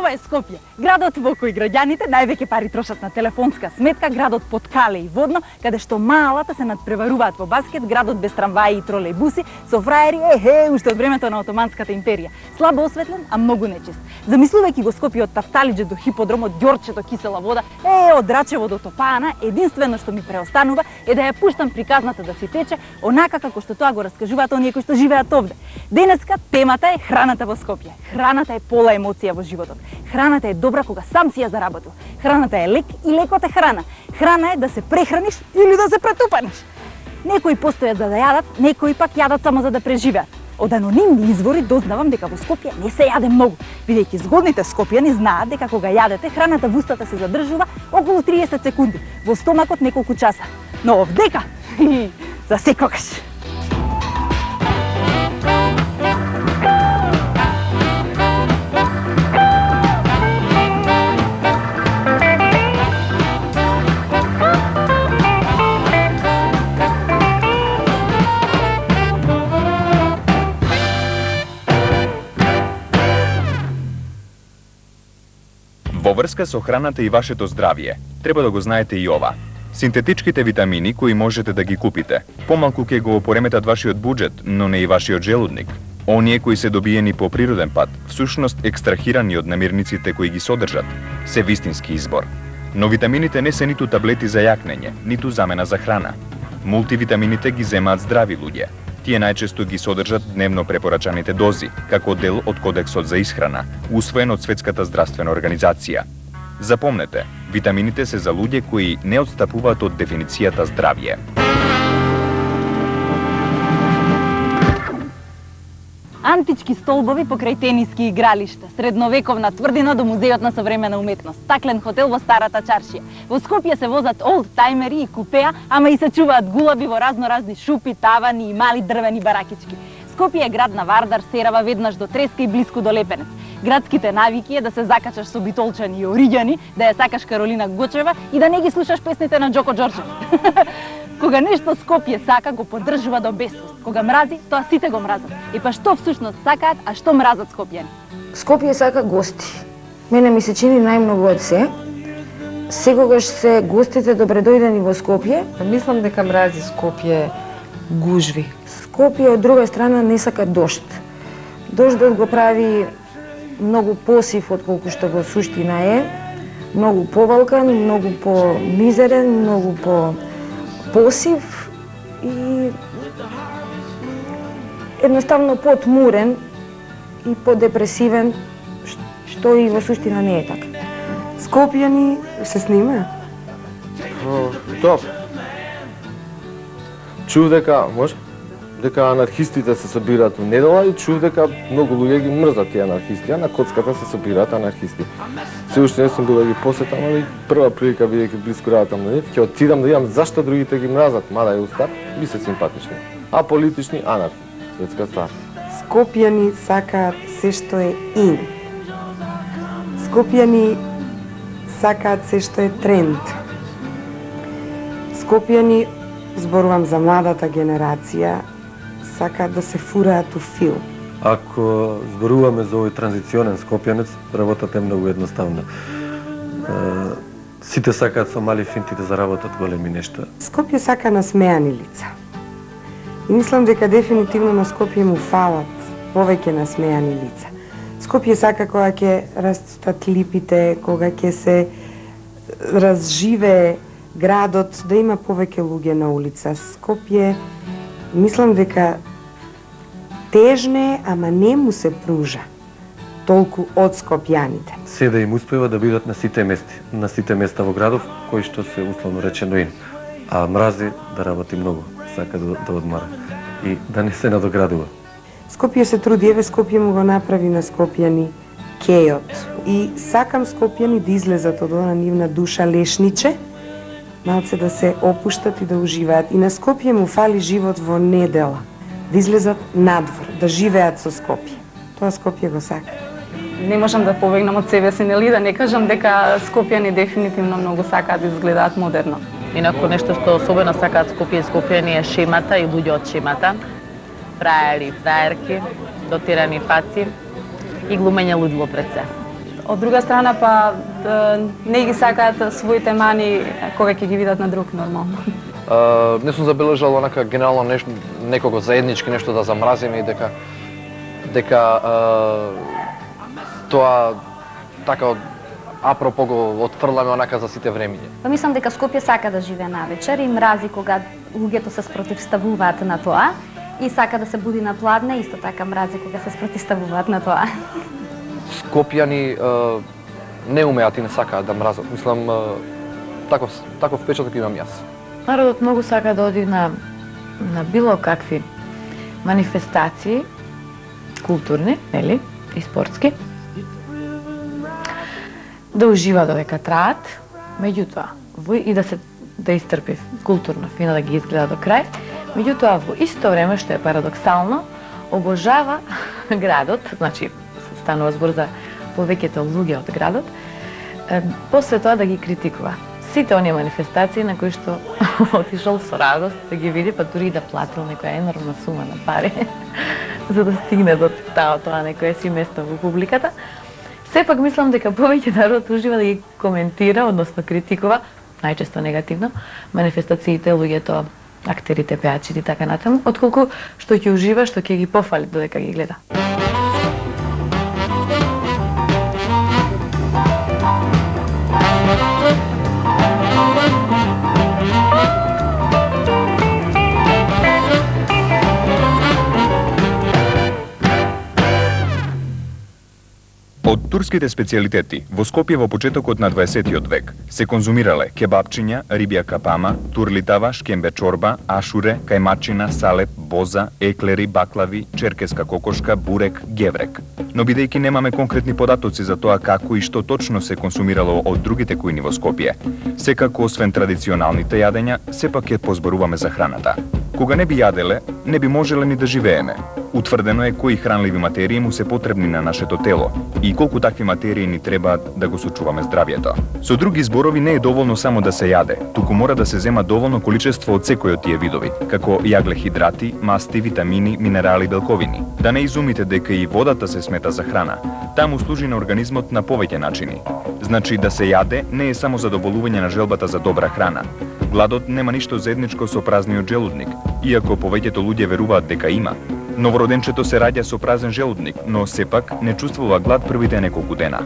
Ова е Скопје, градот во кој граѓаните највеќе пари трошат на телефонска сметка, градот под кале и водно, каде што малата се надпреваруваат во баскет, градот без трамваи и тролејбуси, со фраери, ехе, уште од времето на Отоманската империја. Слабо осветлен, а многу нечист. Замислувајќи го Скопје од Тафталиџе до Хиподром, од Ѓорче до Кисела вода, е, од Рачево до Топаана, единствено што ми преостанува е да ја пуштам приказната да си тече, онака како што тоа го раскажуваат оние кои што живеат овде. Денеска темата е храната во Скопје. Храната е пола емоција во животот. Храната е добра кога сам си ја заработил. Храната е лек и лекот е храна. Храна е да се прехраниш или да се претупаниш. Некои постојат за да јадат, некои пак јадат само за да преживеат. Од анонимни извори дознавам дека во Скопје не се јаде многу, бидејќи згодните скопјани знаат дека кога јадете, храната во устата се задржува околу триесет секунди, во стомакот неколку часа. Но овдека, за секогаш. Во врска со храната и вашето здравје, треба да го знаете и ова. Синтетичките витамини кои можете да ги купите, помалку ќе го пореметат вашиот буџет, но не и вашиот желудник. Оние кои се добиени по природен пат, всушност екстрахирани од намирниците кои ги содржат, се вистински избор. Но витамините не се ниту таблети за јакнење, ниту замена за храна. Мултивитамините ги земаат здрави луѓе. Тие најчесто ги содржат дневно препорачаните дози, како дел од Кодексот за исхрана, усвоен од Светската здравствена организација. Запомнете, витамините се за луѓе кои не отстапуваат од дефиницијата здравје. Антички столбови покрај тениски игралишта, средновековна тврдина до Музејот на современа уметност, стаклен хотел во Старата чаршија. Во Скопје се возат олдтаймери и купеа, ама и се чуваат гулаби во разноразни шупи, тавани и мали дрвени баракички. Скопје е град на Вардар, Серава, веднаш до Треска и блиску до Лепенец. Градските навики е да се закачаш со Битолчани и Ориѓани, да ја сакаш Каролина Гочева и да не ги слушаш песните на Џоко Џорџев. Кога нешто Скопје сака, го поддржува до бесвест. Кога мрази, тоа сите го мразат. И па што всушност сакаат, а што мразат скопјани? Скопје сака гости. Мене ми се чини најмногу од се. Секогаш се гостите добредојдени во Скопје. Мислам дека мрази Скопје гужви. Скопје од друга страна не сака дожд. Дождот го прави многу посив од колку што во суштина е. Многу повалкан, многу помизерен, многу по посив и едноставно потмурен и подепресивен, што и во суштина не е така. Скопјани се снима? Тоа. Чув дека, може, дека анархистите се собираат во недела и чув дека многу луѓе ги мрзат тие анархисти, а на коцката се собираат анархисти. Се уште не сум бил да ги посетам, али прва прилика бидејќи блиску работам на нив, ќе отидам да видам зашто другите ги мразат, мада е устар, би се симпатични. А политични анархи, светска стар. Скопјани сакаат се што е ин. Скопјани сакаат се што е тренд. Скопјани, зборувам за младата генерација, сакаат да се фураат у филм. Ако зборуваме за овој транзиционен скопјанец, работата е многу едноставна. Сите сакаат со мали финти да заработат големи нешта. Скопје сака насмеани лица. И мислам дека дефинитивно на Скопје му фалат повеќе насмеани лица. Скопје сака кога ќе растат липите, кога ќе се разживее градот, да има повеќе луѓе на улица. Скопје, мислам дека тежне, ама не му се пружа толку од скопјаните. Се да им успева да бидат на сите мести, на сите места во градов, кои што се условно речено ин. А мрази да работи многу, сака да, да одмара и да не се надоградува. Скопје се труди, еве Скопје му го направи на скопјани кејот. И сакам скопјани да излезат од она нивна душа лешниче, малце да се опуштат и да уживаат. И на Скопје му фали живот во недела, да излезат надвор, да живеат со Скопје. Тоа Скопје го сака. Не можам да побегнам од себе си, нели, да не кажам дека скопјани дефинитивно многу сакаат да изгледаат модерно. Инаку нешто што особено сакаат Скопје и скопјани е шемата и луѓе од шемата. Фраери, фраерки, дотирани фаци и глумење луѓе пред се. Од друга страна па не ги сакаат своите мани кога ќе ги видат на друг нормално. Uh, не сум забележал онака генерално нешто, некого заеднички нешто да замразиме и дека дека uh, тоа така апропо го отфрламе онака за сите времиња. Па мислам дека Скопје сака да живее навечер и мрази кога луѓето се спротивставуваат на тоа и сака да се буди на пладне, исто така мрази кога се спротивставуваат на тоа. Скопјани uh, не умеат и не сакаат да мразат. Мислам uh, таков таков впечаток имам јас. Народот многу сака да оди на, на било какви манифестации, културни, нели, и спортски, да ужива додека траат, меѓутоа, во, и да се даистрпи културно, фина да ги изгледа до крај, меѓутоа во исто време, што е парадоксално, обожава градот, значи станува збор за повеќето луѓе од градот, после тоа да ги критикува. Сите оние манифестации на кои што отишол со радост да ги види, па дури и да платил некоја енормна сума на пари за да стигне до таа тоа некое си место во публиката. Сепак мислам дека повеќе народ ужива да ги коментира, односно критикува, најчесто негативно, манифестациите, луѓето, актерите, пеачите и така натаму, отколку што ќе ужива, што ќе ги пофали додека ги гледа. Од турските специјалитети во Скопје во почетокот на дваесеттиот век се конзумирале кебапчиња, рибја капама, турлитава, шкембе чорба, ашуре, кајмачина, салеп, боза, еклери, баклави, черкеска кокошка, бурек, геврек. Но бидејќи немаме конкретни податоци за тоа како и што точно се консумирало од другите кујни во Скопје, секако освен традиционалните јадења, сепак ќе позборуваме за храната. Кога не би јаделе, не би можеле ни да живееме. Утврдено е кои хранливи материи му се потребни на нашето тело и колку такви материи ни требаат да го сочуваме здравјето. Со други зборови не е доволно само да се јаде, туку мора да се зема доволно количество од секој од тие видови, како јаглехидрати, масти, витамини, минерали, белковини. Да не изумите дека и водата се смета за храна. Таму служи на организмот на повеќе начини. Значи да се јаде не е само задоволување на желбата за добра храна. Гладот нема ништо заедничко со празниот желудник, иако повеќето луѓе веруваат дека има. Новороденчето се раѓа со празен желудник, но сепак не чувствува глад првите неколку дена.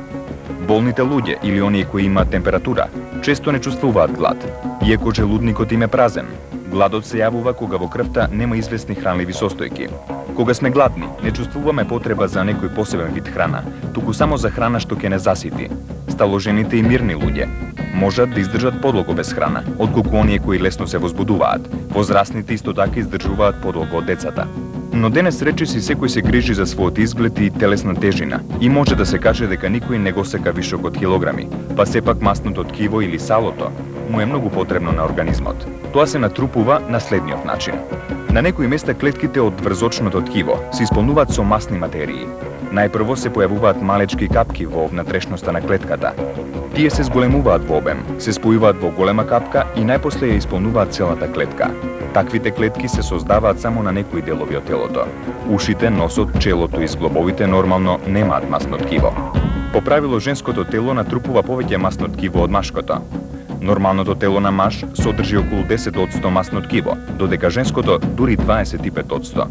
Болните луѓе или оние кои имаат температура често не чувствуваат глад, иако желудникот им е празен. Гладот се јавува кога во крвта нема известни хранливи состојки. Кога сме гладни, не чувствуваме потреба за некој посебен вид храна, туку само за храна што ќе не засити. Сталожените и мирни луѓе можат да издржат подлого без храна, отколку оние кои лесно се возбудуваат. Возрастните исто така издржуваат подлого од децата. Но денес речиси секој се грижи за својот изглед и телесна тежина и може да се каже дека никој не го сека вишок од килограми, па сепак масното ткиво или салото му е многу потребно на организмот. Тоа се натрупува на следниот начин. На некои места клетките од врзочното ткиво се исполнуваат со масни материи. Најпрво се појавуваат малечки капки во внатрешноста на клетката. Тие се зголемуваат во обем, се спојуваат во голема капка и најпосле ја исполнуваат целата клетка. Таквите клетки се создаваат само на некои делови од телото. Ушите, носот, челото и зглобовите нормално немаат масно ткиво. По правило, женското тело натрупува повеќе масно ткиво од машкото. Нормалното тело на маж содржи околу десет одсто масно ткиво, додека женското дури дваесет и пет одсто.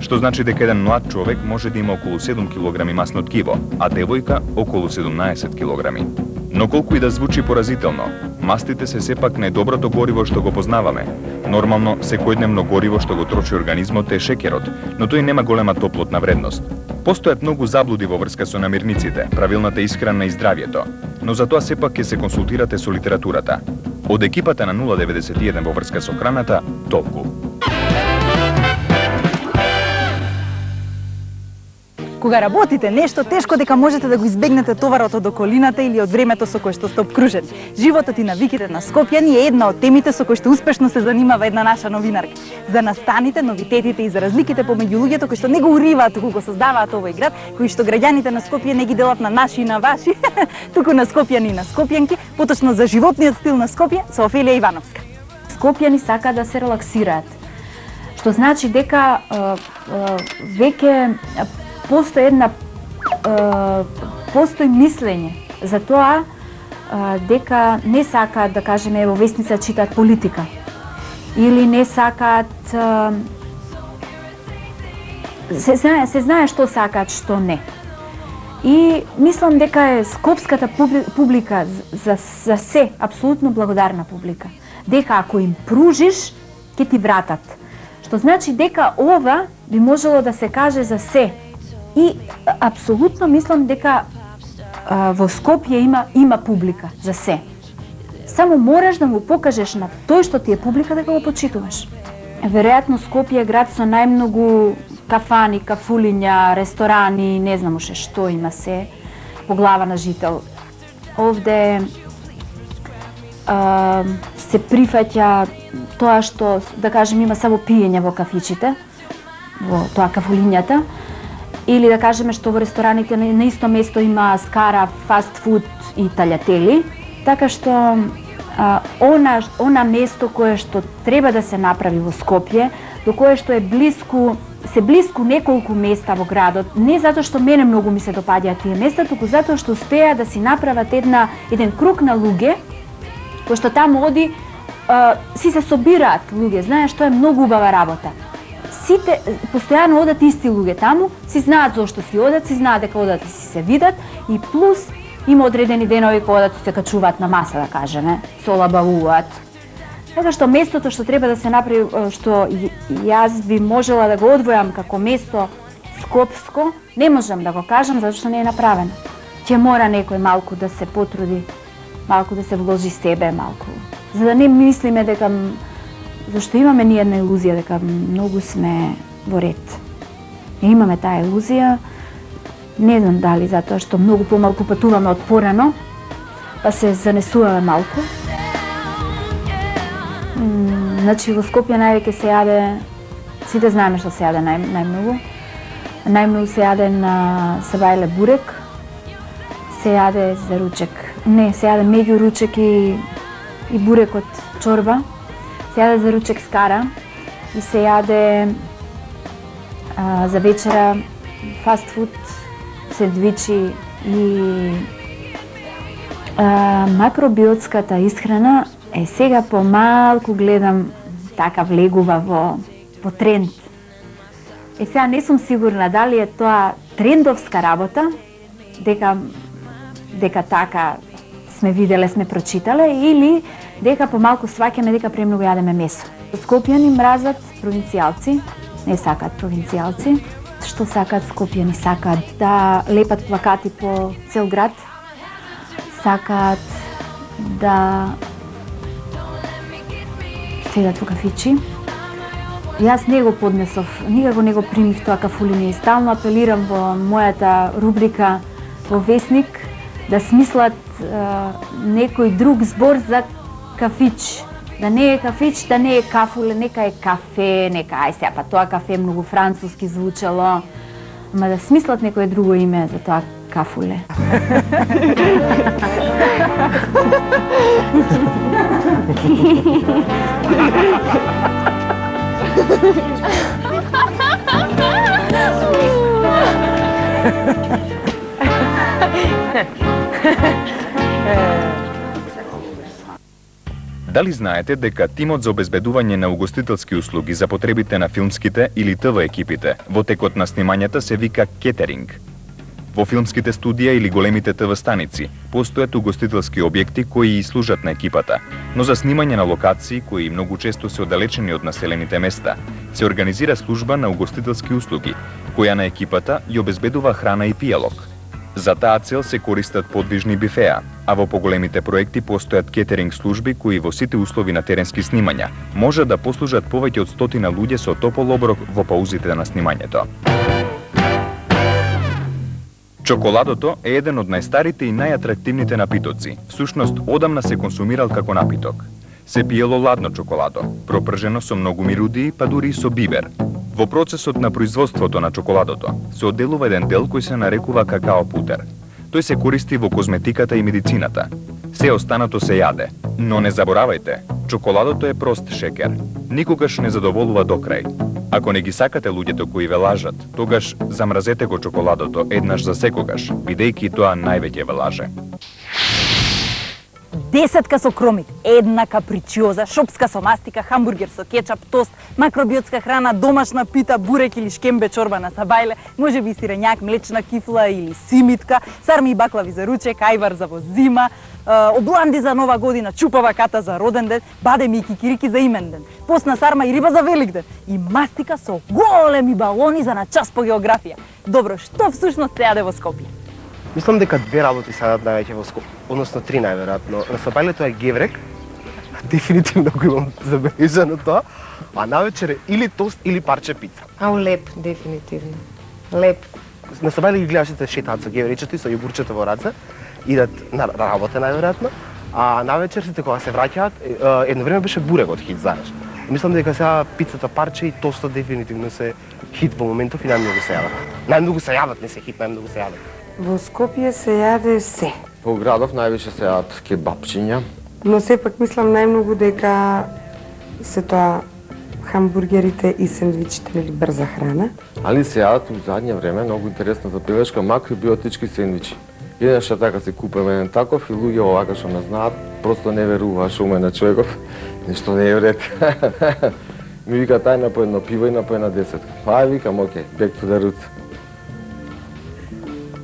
Што значи дека еден млад човек може да има околу седум килограми масно ткиво, а девојка околу седумнаесет килограми. Но колку и да звучи поразително, мастите се сепак најдоброто гориво што го познаваме. Нормално, секојдневно гориво што го троши организмот е шекерот, но тој нема голема топлотна вредност. Постојат многу заблуди во врска со намирниците, правилната исхрана и здравјето, но за тоа сепак ќе се консултирате со литературата. Од екипата на нула деветдесет и еден во врска со храната, толку. Кога работите нешто тешко, дека можете да го избегнете товарот од околината или од времето со кое што сте обкружени. Животот и навиките на скопјани е една од темите со кои што успешно се занимава една наша новинарка. За настаните, новитетите и за разликите помеѓу луѓето кои што не го уриваат, туку го создаваат овој град, кои што граѓаните на Скопје не ги делат на наши и на ваши, туку на скопјани и на скопјанки, поточно за животниот стил на Скопје со Офелија Ивановска. Скопјани сакаат да се релаксираат, што значи дека е, е, веќе постои една е, постои мислење за тоа е, дека не сакаат, да кажеме, во весница читаат политика или не сакаат е, се знае, се знае што сакаат, што не. И мислам дека е скопската публика за, за се апсолутно благодарна публика. Дека ако им пружиш, ќе ти вратат. Што значи дека ова би можело да се каже за се. И апсолутно мислам дека а, во Скопје има има публика за се. Само мораш да му покажеш на тој што ти е публика дека го почитуваш. Веројатно Скопје е град со најмногу кафани, кафулиња, ресторани, не знам уште што има се по глава на жител. Овде а, се прифаќа тоа што, да кажем, има само пиење во кафичите, во тоа кафулињата, или да кажеме што во рестораните на исто место има скара, фаст фуд и талјатели, така што а, она, она место кое што треба да се направи во Скопје, до кое што е блиску, се блиску неколку места во градот, не затоа што мене многу ми се допаѓаат тие места, туку затоа што успеа да си направат една, еден круг на луѓе, кои што таму оди, а, си се собираат луѓе, знаеш, што е многу убава работа. Сите постојано одат исти луѓе таму, си знаат зошто си одат, си знаат дека одат и си се видат, и плюс има одредени денови кога одат и се качуваат на маса, да кажеме, солабавуваат. Така што местото што треба да се направи, што јас би можела да го одвојам како место скопско, не можам да го кажам затоа што не е направено. Ќе мора некој малку да се потруди, малку да се вложи себе, малку. За да не мислиме дека, зашто имаме ние една илузија дека многу сме во ред. И имаме таа илузија, не знам дали затоа што многу помалку патуваме од порано, па се занесуваме малку. Значи во Скопје највеќе се јаде, сите знаеме што се јаде нај, најмногу. Најмногу се јаде на сабајле бурек, се јаде за ручек. Не, се јаде меѓу ручек и, и бурек од чорба. Се јаде за ручек скара и се јаде а, за вечера фаст фуд, сендвичи и а, макробиотската исхрана. Е, сега помалку гледам така влегува во, во тренд. Е, сега не сум сигурна дали е тоа трендовска работа, дека, дека така сме виделе, сме прочитале, или дека помалку сваќаме дека премногу јадеме месо. Скопјани мразат провинцијалци, не сакаат провинцијалци. Што сакаат Скопјани? Сакаат да лепат плакати по цел град, сакаат да седат во кафичи, Јас не го поднесов, никако не го примив тоа кафулиње и стално апелирам во мојата рубрика во Весник да смислат е, некој друг збор за кафич. Да не е кафич, да не е кафуле, нека е кафе, нека ај сега, па тоа кафе многу француски звучало. Ама да смислат некое друго име за тоа кафуле. Дали знаете дека тимот за обезбедување на угостителски услуги за потребите на филмските или ТВ екипите во текот на снимањата се вика кетеринг? Во филмските студија или големите ТВ станици постојат угостителски објекти кои и служат на екипата, но за снимање на локации кои многу често се оддалечени од населените места, се организира служба на угостителски услуги, која на екипата ја обезбедува храна и пијалок. За таа цел се користат подвижни бифеа, а во поголемите проекти постојат кетеринг служби кои во сите услови на теренски снимања може да послужат повеќе од стотина луѓе со топол оброк во паузите на снимањето. Чоколадото е еден од најстарите и најатрактивните напитоци. Всушност, одамна се консумирал како напиток. Се пиело ладно чоколадо, пропржено со многу мирудии, па дури и со бибер. Во процесот на производството на чоколадото се одделува еден дел кој се нарекува какао путер. Тој се користи во козметиката и медицината. Се останато се јаде. Но не заборавајте, чоколадото е прост шекер. Никогаш не задоволува до крај. Ако не ги сакате луѓето кои ве лажат, тогаш замразете го чоколадото еднаш за секогаш, бидејќи тоа највеќе ве лаже. Десетка со кромик, една капричиоза, шопска со мастика, хамбургер со кетчап, тост, макробиотска храна, домашна пита, бурек или шкембе чорба на сабајле, може би сирењак, млечна кифла или симитка, сарми и баклави за ручек, ајвар за во зима, обланди за нова година, чупава ката за роден ден, бадеми и кикирики за имен ден, постна сарма и риба за велик ден и мастика со големи балони за на час по географија. Добро, што всушност се јаде во Скопје? Мислам дека две работи се јадат највеќе во Скопје, односно три најверојатно. На сабајлето е геврек, дефинитивно го имам забележано тоа, а навечер е или тост или парче пица. Ау, леп, дефинитивно. Леп. На сабајле ги гледаш сите шетаат со гевречето и со јогурчето во раце, идат на работа најверојатно, а навечер сите кога се враќаат, едно време беше бурекот хит, знаеш. Мислам дека сега пицата парче и тостот дефинитивно се хит во моментов и најмногу се јадат. Најмногу се јадат, не се хит, најмногу се јадат. Во Скопје се јаде се. Во градов највише се јадат кебапчиња. Но сепак мислам најмногу дека се тоа хамбургерите и сендвичите или брза храна. Али се јадат у задње време многу интересна забелешка макробиотички сендвичи. Еднаш така се купуваме еден таков и луѓе овака што ме знаат, просто не верува што уме на човеков, нешто не е вред. Ми вика тај на по едно пиво и на по една десетка. Ај викам, окей, back to the roots.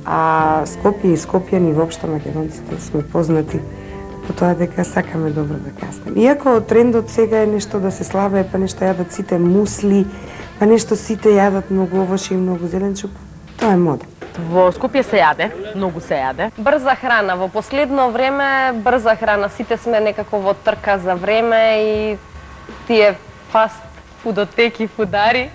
А Скопје и скопјани воопшто македонците сме познати по тоа дека сакаме добро да каснем. Иако трендот сега е нешто да се слабее, па нешто јадат сите мусли, па нешто сите јадат многу овошје и многу зеленчук, тоа е мода. Во Скопје се јаде, многу се јаде. Брза храна, во последно време брза храна, сите сме некако во трка за време и тие фаст фудотеки, фудари.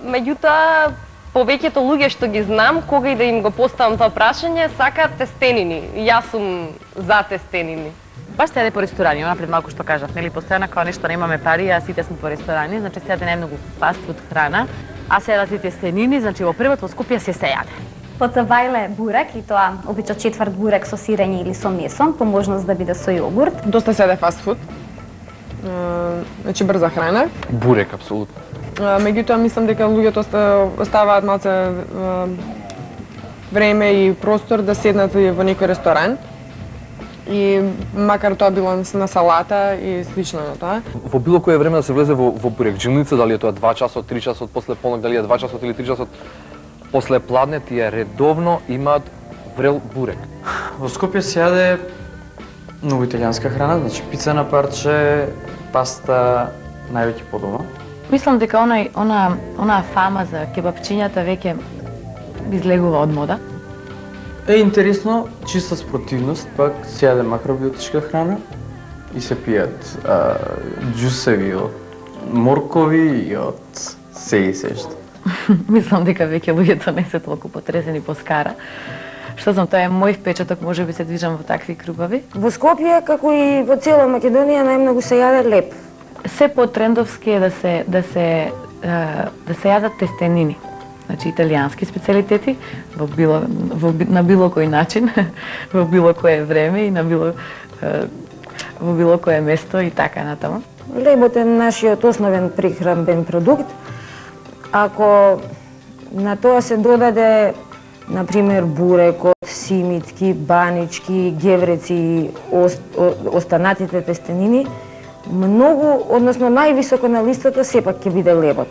Меѓутоа, повеќето луѓе што ги знам, кога и да им го поставам тоа прашање, сакаат тестенини. Јас сум за тестенини. Баш се јаде по ресторани, она пред малку што кажав, нели постојано кога нешто немаме пари, а сите сме по ресторани, значи се јаде најмногу фаст фуд храна, а се јадат и тестенини, значи во првот во Скопје се се јаде. По сабајле бурек и тоа обично четврт бурек со сирење или со месо, по можност да биде со јогурт. Доста се јаде фаст фуд. Значи брза храна. Бурек апсолутно. Меѓутоа мислам дека луѓето оставаат малце време и простор да седнат во некој ресторан. И макар тоа било на салата и слично на тоа. Во било кое време да се влезе во, во бурекџилница, дали е тоа два часот, три часот после полнок, дали е два часот или три часот после пладне, тие редовно имаат врел бурек. Во Скопје се јаде многу италијанска храна, значи пица на парче, паста највеќе по дома. Мислам дека онај, она, она фама за кебапчињата веќе излегува од мода. Е интересно, чиста спортивност, пак се јаде макробиотичка храна и се пијат а, џусеви од моркови и од се и се што. Мислам дека веќе луѓето не се толку потресени по скара. Што знам, тоа е мој впечаток, може би се движам во такви кругови. Во Скопје, како и во цела Македонија, најмногу се јаде леп. Се по-трендовски е да се да се да се јадат тестенини. Значи италијански специјалитети во било во, на било кој начин, во било кое време и на било во било кое место и така натаму. Лебот е нашиот основен прехранбен продукт. Ако на тоа се додаде, например, бурекот, симитки, банички, гевреци и останатите тестенини, многу, односно највисоко на листата сепак ќе биде лебот.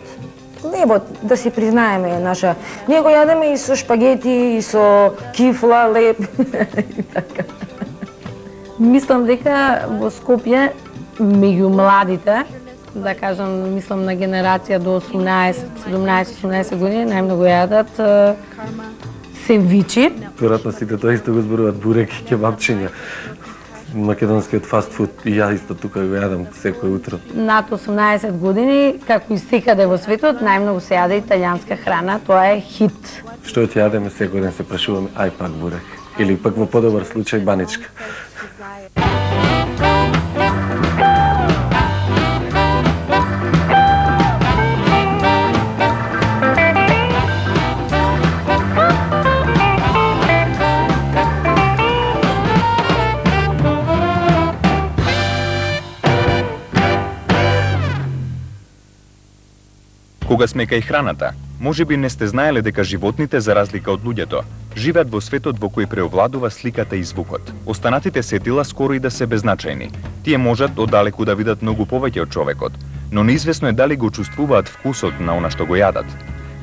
Лебот, да си признаеме, е наша. Ние го јадеме и со шпагети, и со кифла, леб и така. Мислам дека во Скопје меѓу младите, да кажам, мислам на генерација до осумнаесет, седумнаесет, осумнаесет години, најмногу јадат сендвичи. Веројатно сите тоа исто го зборуваат бурек и кебапчиња. Македонскиот фастфуд и ја исто тука го јадам секој утро. Над осумнаесет години, како и секаде во светот, најмногу се јаде италијанска храна, тоа е хит. Што ќе јадеме секој ден се прашуваме, ај пак бурек. Или пак во подобар случај баничка. Кога сме кај храната, може би не сте знаеле дека животните, за разлика од луѓето, живеат во светот во кој преовладува сликата и звукот. Останатите сетила скоро и да се беззначајни. Тие можат оддалеку да видат многу повеќе од човекот, но неизвестно е дали го чувствуваат вкусот на она што го јадат.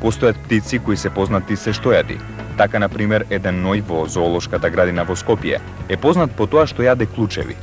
Постојат птици кои се познати се што јади. Така, например, еден ној во зоолошката градина во Скопје е познат по тоа што јаде клучеви.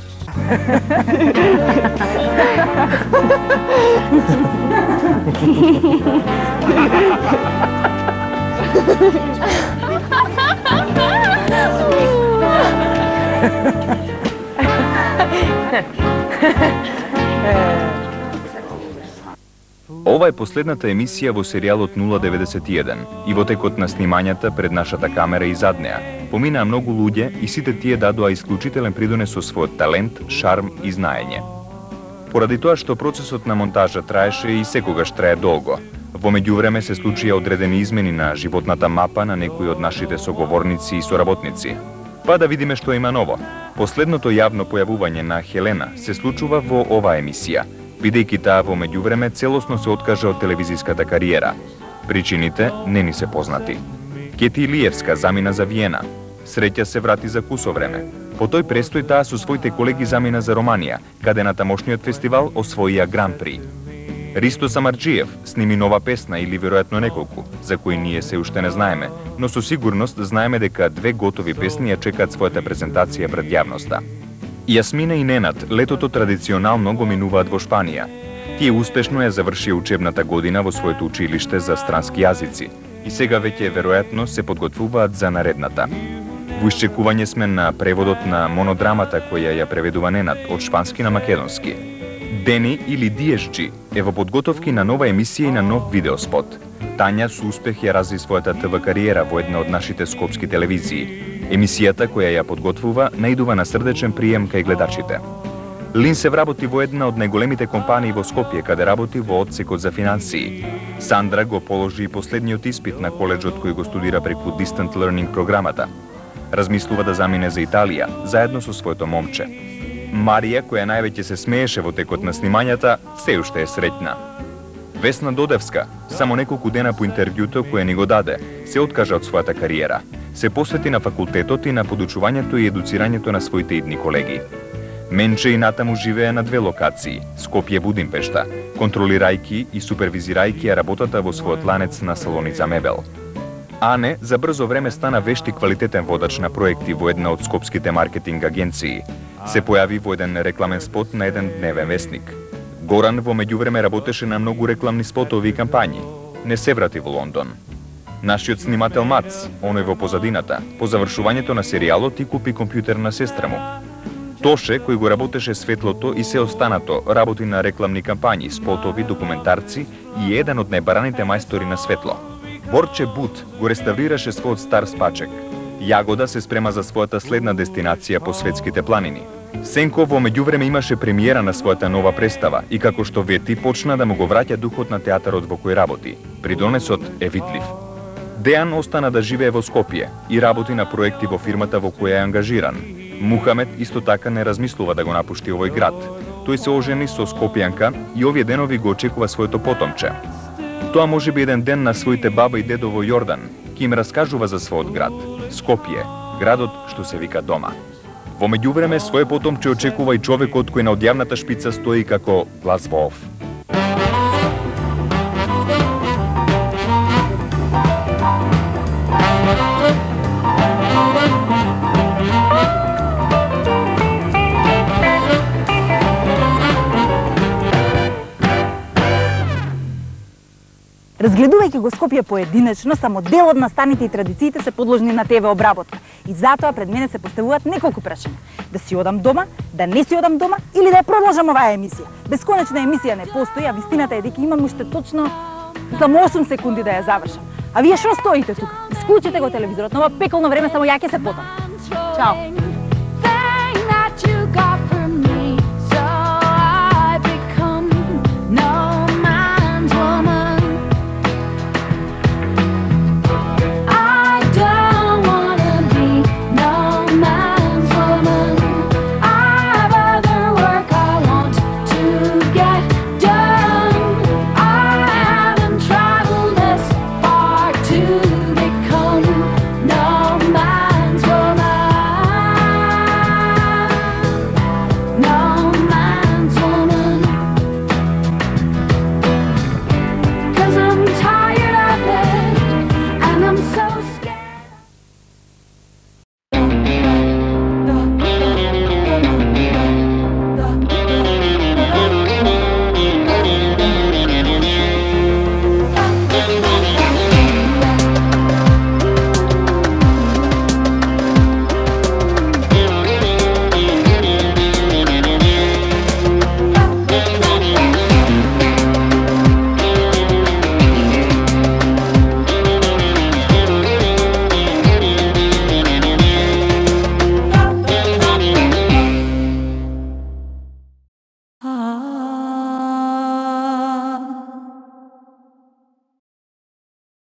Ова е последната емисија во серијалот нула деветдесет и еден и во текот на снимањата пред нашата камера и зад неа поминаа многу луѓе и сите тие дадоа исклучителен придонес со својот талент, шарм и знаење. Поради тоа што процесот на монтажа траеше и секогаш трае долго, во меѓувреме се случија одредени измени на животната мапа на некои од нашите соговорници и соработници. Па да видиме што има ново. Последното јавно појавување на Хелена се случува во оваа емисија, бидејќи таа во меѓувреме целосно се откажа од телевизиската кариера. Причините не ни се познати. Кети Илиевска замина за Виена. Среќа се врати за кусо време. По тој престој таа со своите колеги замина за Романија, каде на тамошниот фестивал освоија Гран-при. Ристо Самарџиев сними нова песна или веројатно неколку, за кои ние се уште не знаеме, но со сигурност знаеме дека две готови песни ја чекаат својата презентација пред јавноста. Јасмина и Ненад летото традиционално го минуваат во Шпанија. Тие успешно ја завршија учебната година во своето училиште за странски јазици и сега веќе веројатно се подготвуваат за наредната. Во исчекување сме на преводот на монодрамата која ја преведува Ненад од шпански на македонски. Дени или Ди Ес Джи е во подготовки на нова емисија и на нов видеоспот. Тања со успех ја разви својата ТВ кариера во една од нашите скопски телевизии. Емисијата која ја подготвува наидува на срдечен прием кај гледачите. Лин се вработи во една од најголемите компании во Скопје, каде работи во одсекот за финансии. Сандра го положи и последниот испит на коледжот кој го студира преку Distant Learning програмата. Размислува да замине за Италија, заедно со своето момче. Марија, која највеќе се смееше во текот на снимањата, се уште е среќна. Весна Додевска, само неколку дена по интервјуто кое ни го даде, се откажа од својата кариера. Се посвети на факултетот и на подучувањето и едуцирањето на своите идни колеги. Менче и натаму живее на две локации, Скопје Будимпешта, контролирајќи и супервизирајќи ја работата во својот ланец на салони за мебел. Ане за брзо време стана вешт и квалитетен водач на проекти во една од скопските маркетинг агенции. Се појави во еден рекламен спот на еден дневен вестник. Горан во меѓувреме работеше на многу рекламни спотови и кампањи. Не се врати во Лондон. Нашиот снимател Мац, оној во позадината, по завршувањето на серијалот и купи компјутер на сестра му. Тоше, кој го работеше светлото и се останато, работи на рекламни кампањи, спотови, документарци и е еден од најбараните мајстори на светло. Борче Бут го реставрираше својот стар спачек. Јагода се спрема за својата следна дестинација по светските планини. Сенко во меѓувреме имаше премиера на својата нова представа и како што вети почна да му го враќа духот на театарот во кој работи. Придонесот е видлив. Дејан остана да живее во Скопје и работи на проекти во фирмата во која е ангажиран. Мухамед исто така не размислува да го напушти овој град. Тој се ожени со скопјанка и овие денови го очекува своето потомче. Тоа може би еден ден на своите баба и дедо во Јордан ќе им раскажува за својот град, Скопје, градот што се вика дома. Во меѓувреме своје потомче очекува и човекот кој на одјавната шпица стои како глас во ов. Разгледувајќи го Скопје поединечно, само дел од настаните и традициите се подложни на ТВ обработка. И затоа пред мене се поставуваат неколку прашања. Да си одам дома, да не си одам дома или да ја продолжам оваа емисија. Бесконечна емисија не постои, а вистината е дека имам уште точно само осум секунди да ја завршам. А вие што стоите тука? Исклучете го телевизорот, на ова пеколно време само ја ќе се потам. Чао!